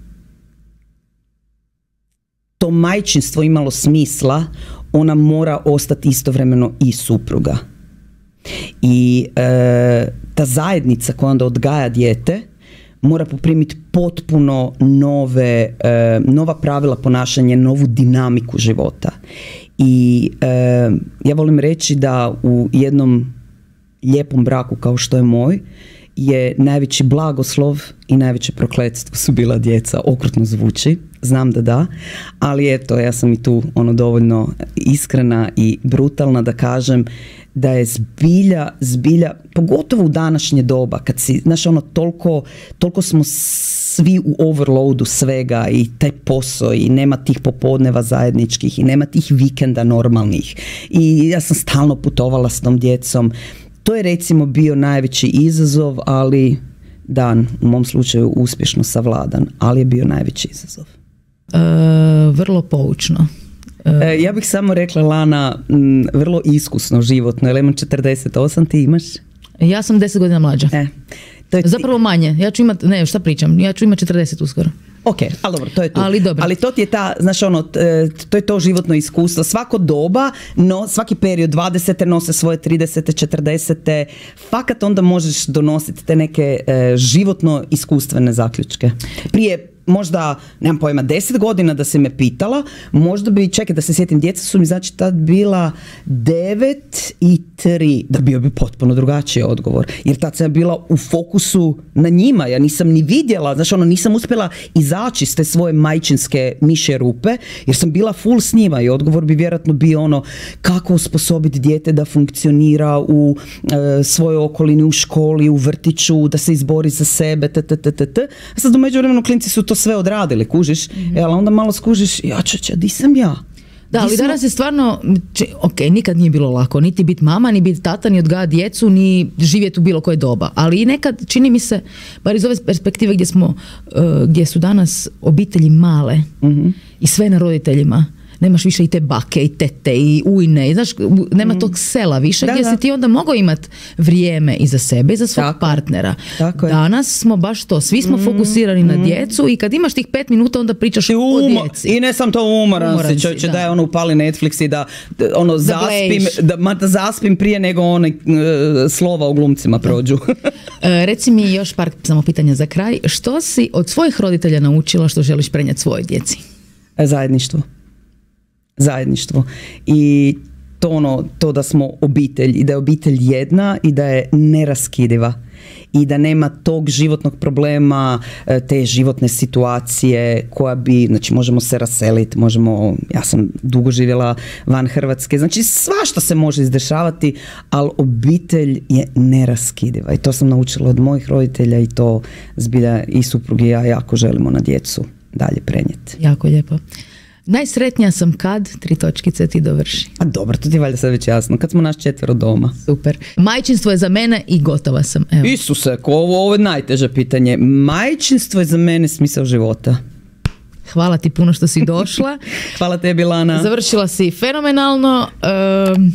to majčinstvo imalo smisla, ona mora ostati istovremeno i supruga. I e, ta zajednica koja onda odgaja dijete mora poprimiti potpuno nove, e, nova pravila ponašanja, novu dinamiku života. I e, ja volim reći da u jednom lijepom braku kao što je moj je najveći blagoslov i najveće prokletstvo su bila djeca. Okrutno zvuči, znam da da, ali eto, ja sam i tu ono dovoljno iskrena i brutalna da kažem da je zbilja, zbilja, pogotovo u današnje doba, kad si, znaš, ono, toliko, toliko smo svi u overloadu svega i taj posao i nema tih popodneva zajedničkih i nema tih vikenda normalnih i ja sam stalno putovala s tom djecom. To je recimo bio najveći izazov, ali dan, u mom slučaju uspješno savladan, ali je bio najveći izazov. E, vrlo poučno. E, ja bih samo rekla, Lana, m, vrlo iskusno životno, jer imam četrdeset osam, ti imaš? Ja sam deset godina mlađa. E, to je Zapravo manje, ja ću imat, ne, šta pričam, ja ću imati četrdeset uskoro. Ok, ali dobro, to je to. Ali, ali to ti je ta, znaš ono, to je to životno iskustvo. Svako doba, no, svaki period, dvadesete nose svoje tridesete, četrdesete, fakat onda možeš donositi te neke e, životno iskustvene zaključke. Prije možda, nemam pojma, deset godina da si me pitala, možda bi, čekaj da se sjetim, djeca su mi znači tad bila devet i tri, da bio bi potpuno drugačiji odgovor. Jer tad sam bila u fokusu na njima, ja nisam ni vidjela, znači ono, nisam uspjela izaći s te svoje majčinske mišje rupe, jer sam bila full s njima i odgovor bi vjerojatno bio ono, kako osposobiti dijete da funkcionira u e, svojoj okolini, u školi, u vrtiću, da se izbori za sebe, tttt. A sad u međuvremenu klinci su to sve odradili, kužiš, mm-hmm. e, ali onda malo skužiš, ja čeče, di sam ja? Da, ali danas je stvarno, ok, nikad nije bilo lako, niti biti mama, ni biti tata, ni odgajati djecu, ni živjeti u bilo koje doba. Ali i nekad, čini mi se, bar iz ove perspektive gdje smo, uh, gdje su danas obitelji male mm-hmm. i sve na roditeljima, nemaš više i te bake i tete i ujne, i, znaš, nema mm. tog sela više, da, gdje da. si ti onda mogao imati vrijeme i za sebe i za svog Tako. partnera. Tako Danas smo baš to, svi smo mm. fokusirani mm. na djecu i kad imaš tih pet minuta onda pričaš I o djeci. I ne sam to umoran, umoran si, čovječe, da. da je ono upali Netflix i da, da ono da zaspim, da, ma, da zaspim prije nego one uh, slova u glumcima prođu. uh, reci mi još par samo pitanja za kraj. Što si od svojih roditelja naučila što želiš prenijeti svojoj djeci? Zajedništvo. Zajedništvo i to ono, to da smo obitelj i da je obitelj jedna i da je neraskidiva i da nema tog životnog problema, te životne situacije koja bi, znači možemo se raseliti, možemo, ja sam dugo živjela van Hrvatske, znači svašta se može izdešavati, ali obitelj je neraskidiva i to sam naučila od mojih roditelja i to zbilja i suprug i ja jako želimo na djecu dalje prenijeti. Jako lijepo. Najsretnija sam kad, tri točkice, ti dovrši. A dobro, to ti je valjda sad već jasno. Kad smo naš četvero doma. Super. Majčinstvo je za mene i gotova sam. Evo. Isuse, ko ovo, ovo je najteže pitanje. Majčinstvo je za mene smisao života. Hvala ti puno što si došla. Hvala tebi, Lana. Završila si fenomenalno. Um,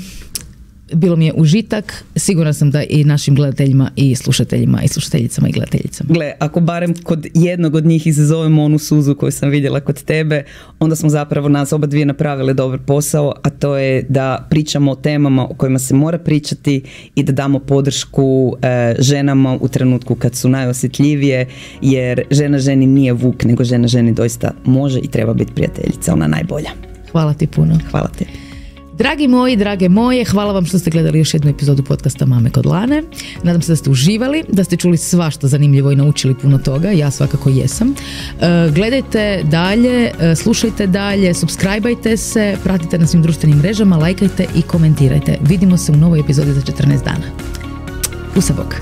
bilo mi je užitak. Sigurna sam da i našim gledateljima i slušateljima i slušateljicama i gledateljicama. Gle, ako barem kod jednog od njih izazovemo onu suzu koju sam vidjela kod tebe, onda smo zapravo nas oba dvije napravili dobar posao, a to je da pričamo o temama o kojima se mora pričati i da damo podršku e, ženama u trenutku kad su najosjetljivije, jer žena ženi nije vuk, nego žena ženi doista može i treba biti prijateljica, ona najbolja. Hvala ti puno. Hvala te. Dragi moji, drage moje, hvala vam što ste gledali još jednu epizodu podcasta Mame kod Lane. Nadam se da ste uživali, da ste čuli svašta zanimljivo i naučili puno toga. Ja svakako jesam. Gledajte dalje, slušajte dalje, subscribeajte se, pratite na svim društvenim mrežama, lajkajte i komentirajte. Vidimo se u novoj epizodi za četrnaest dana. Pusa bok.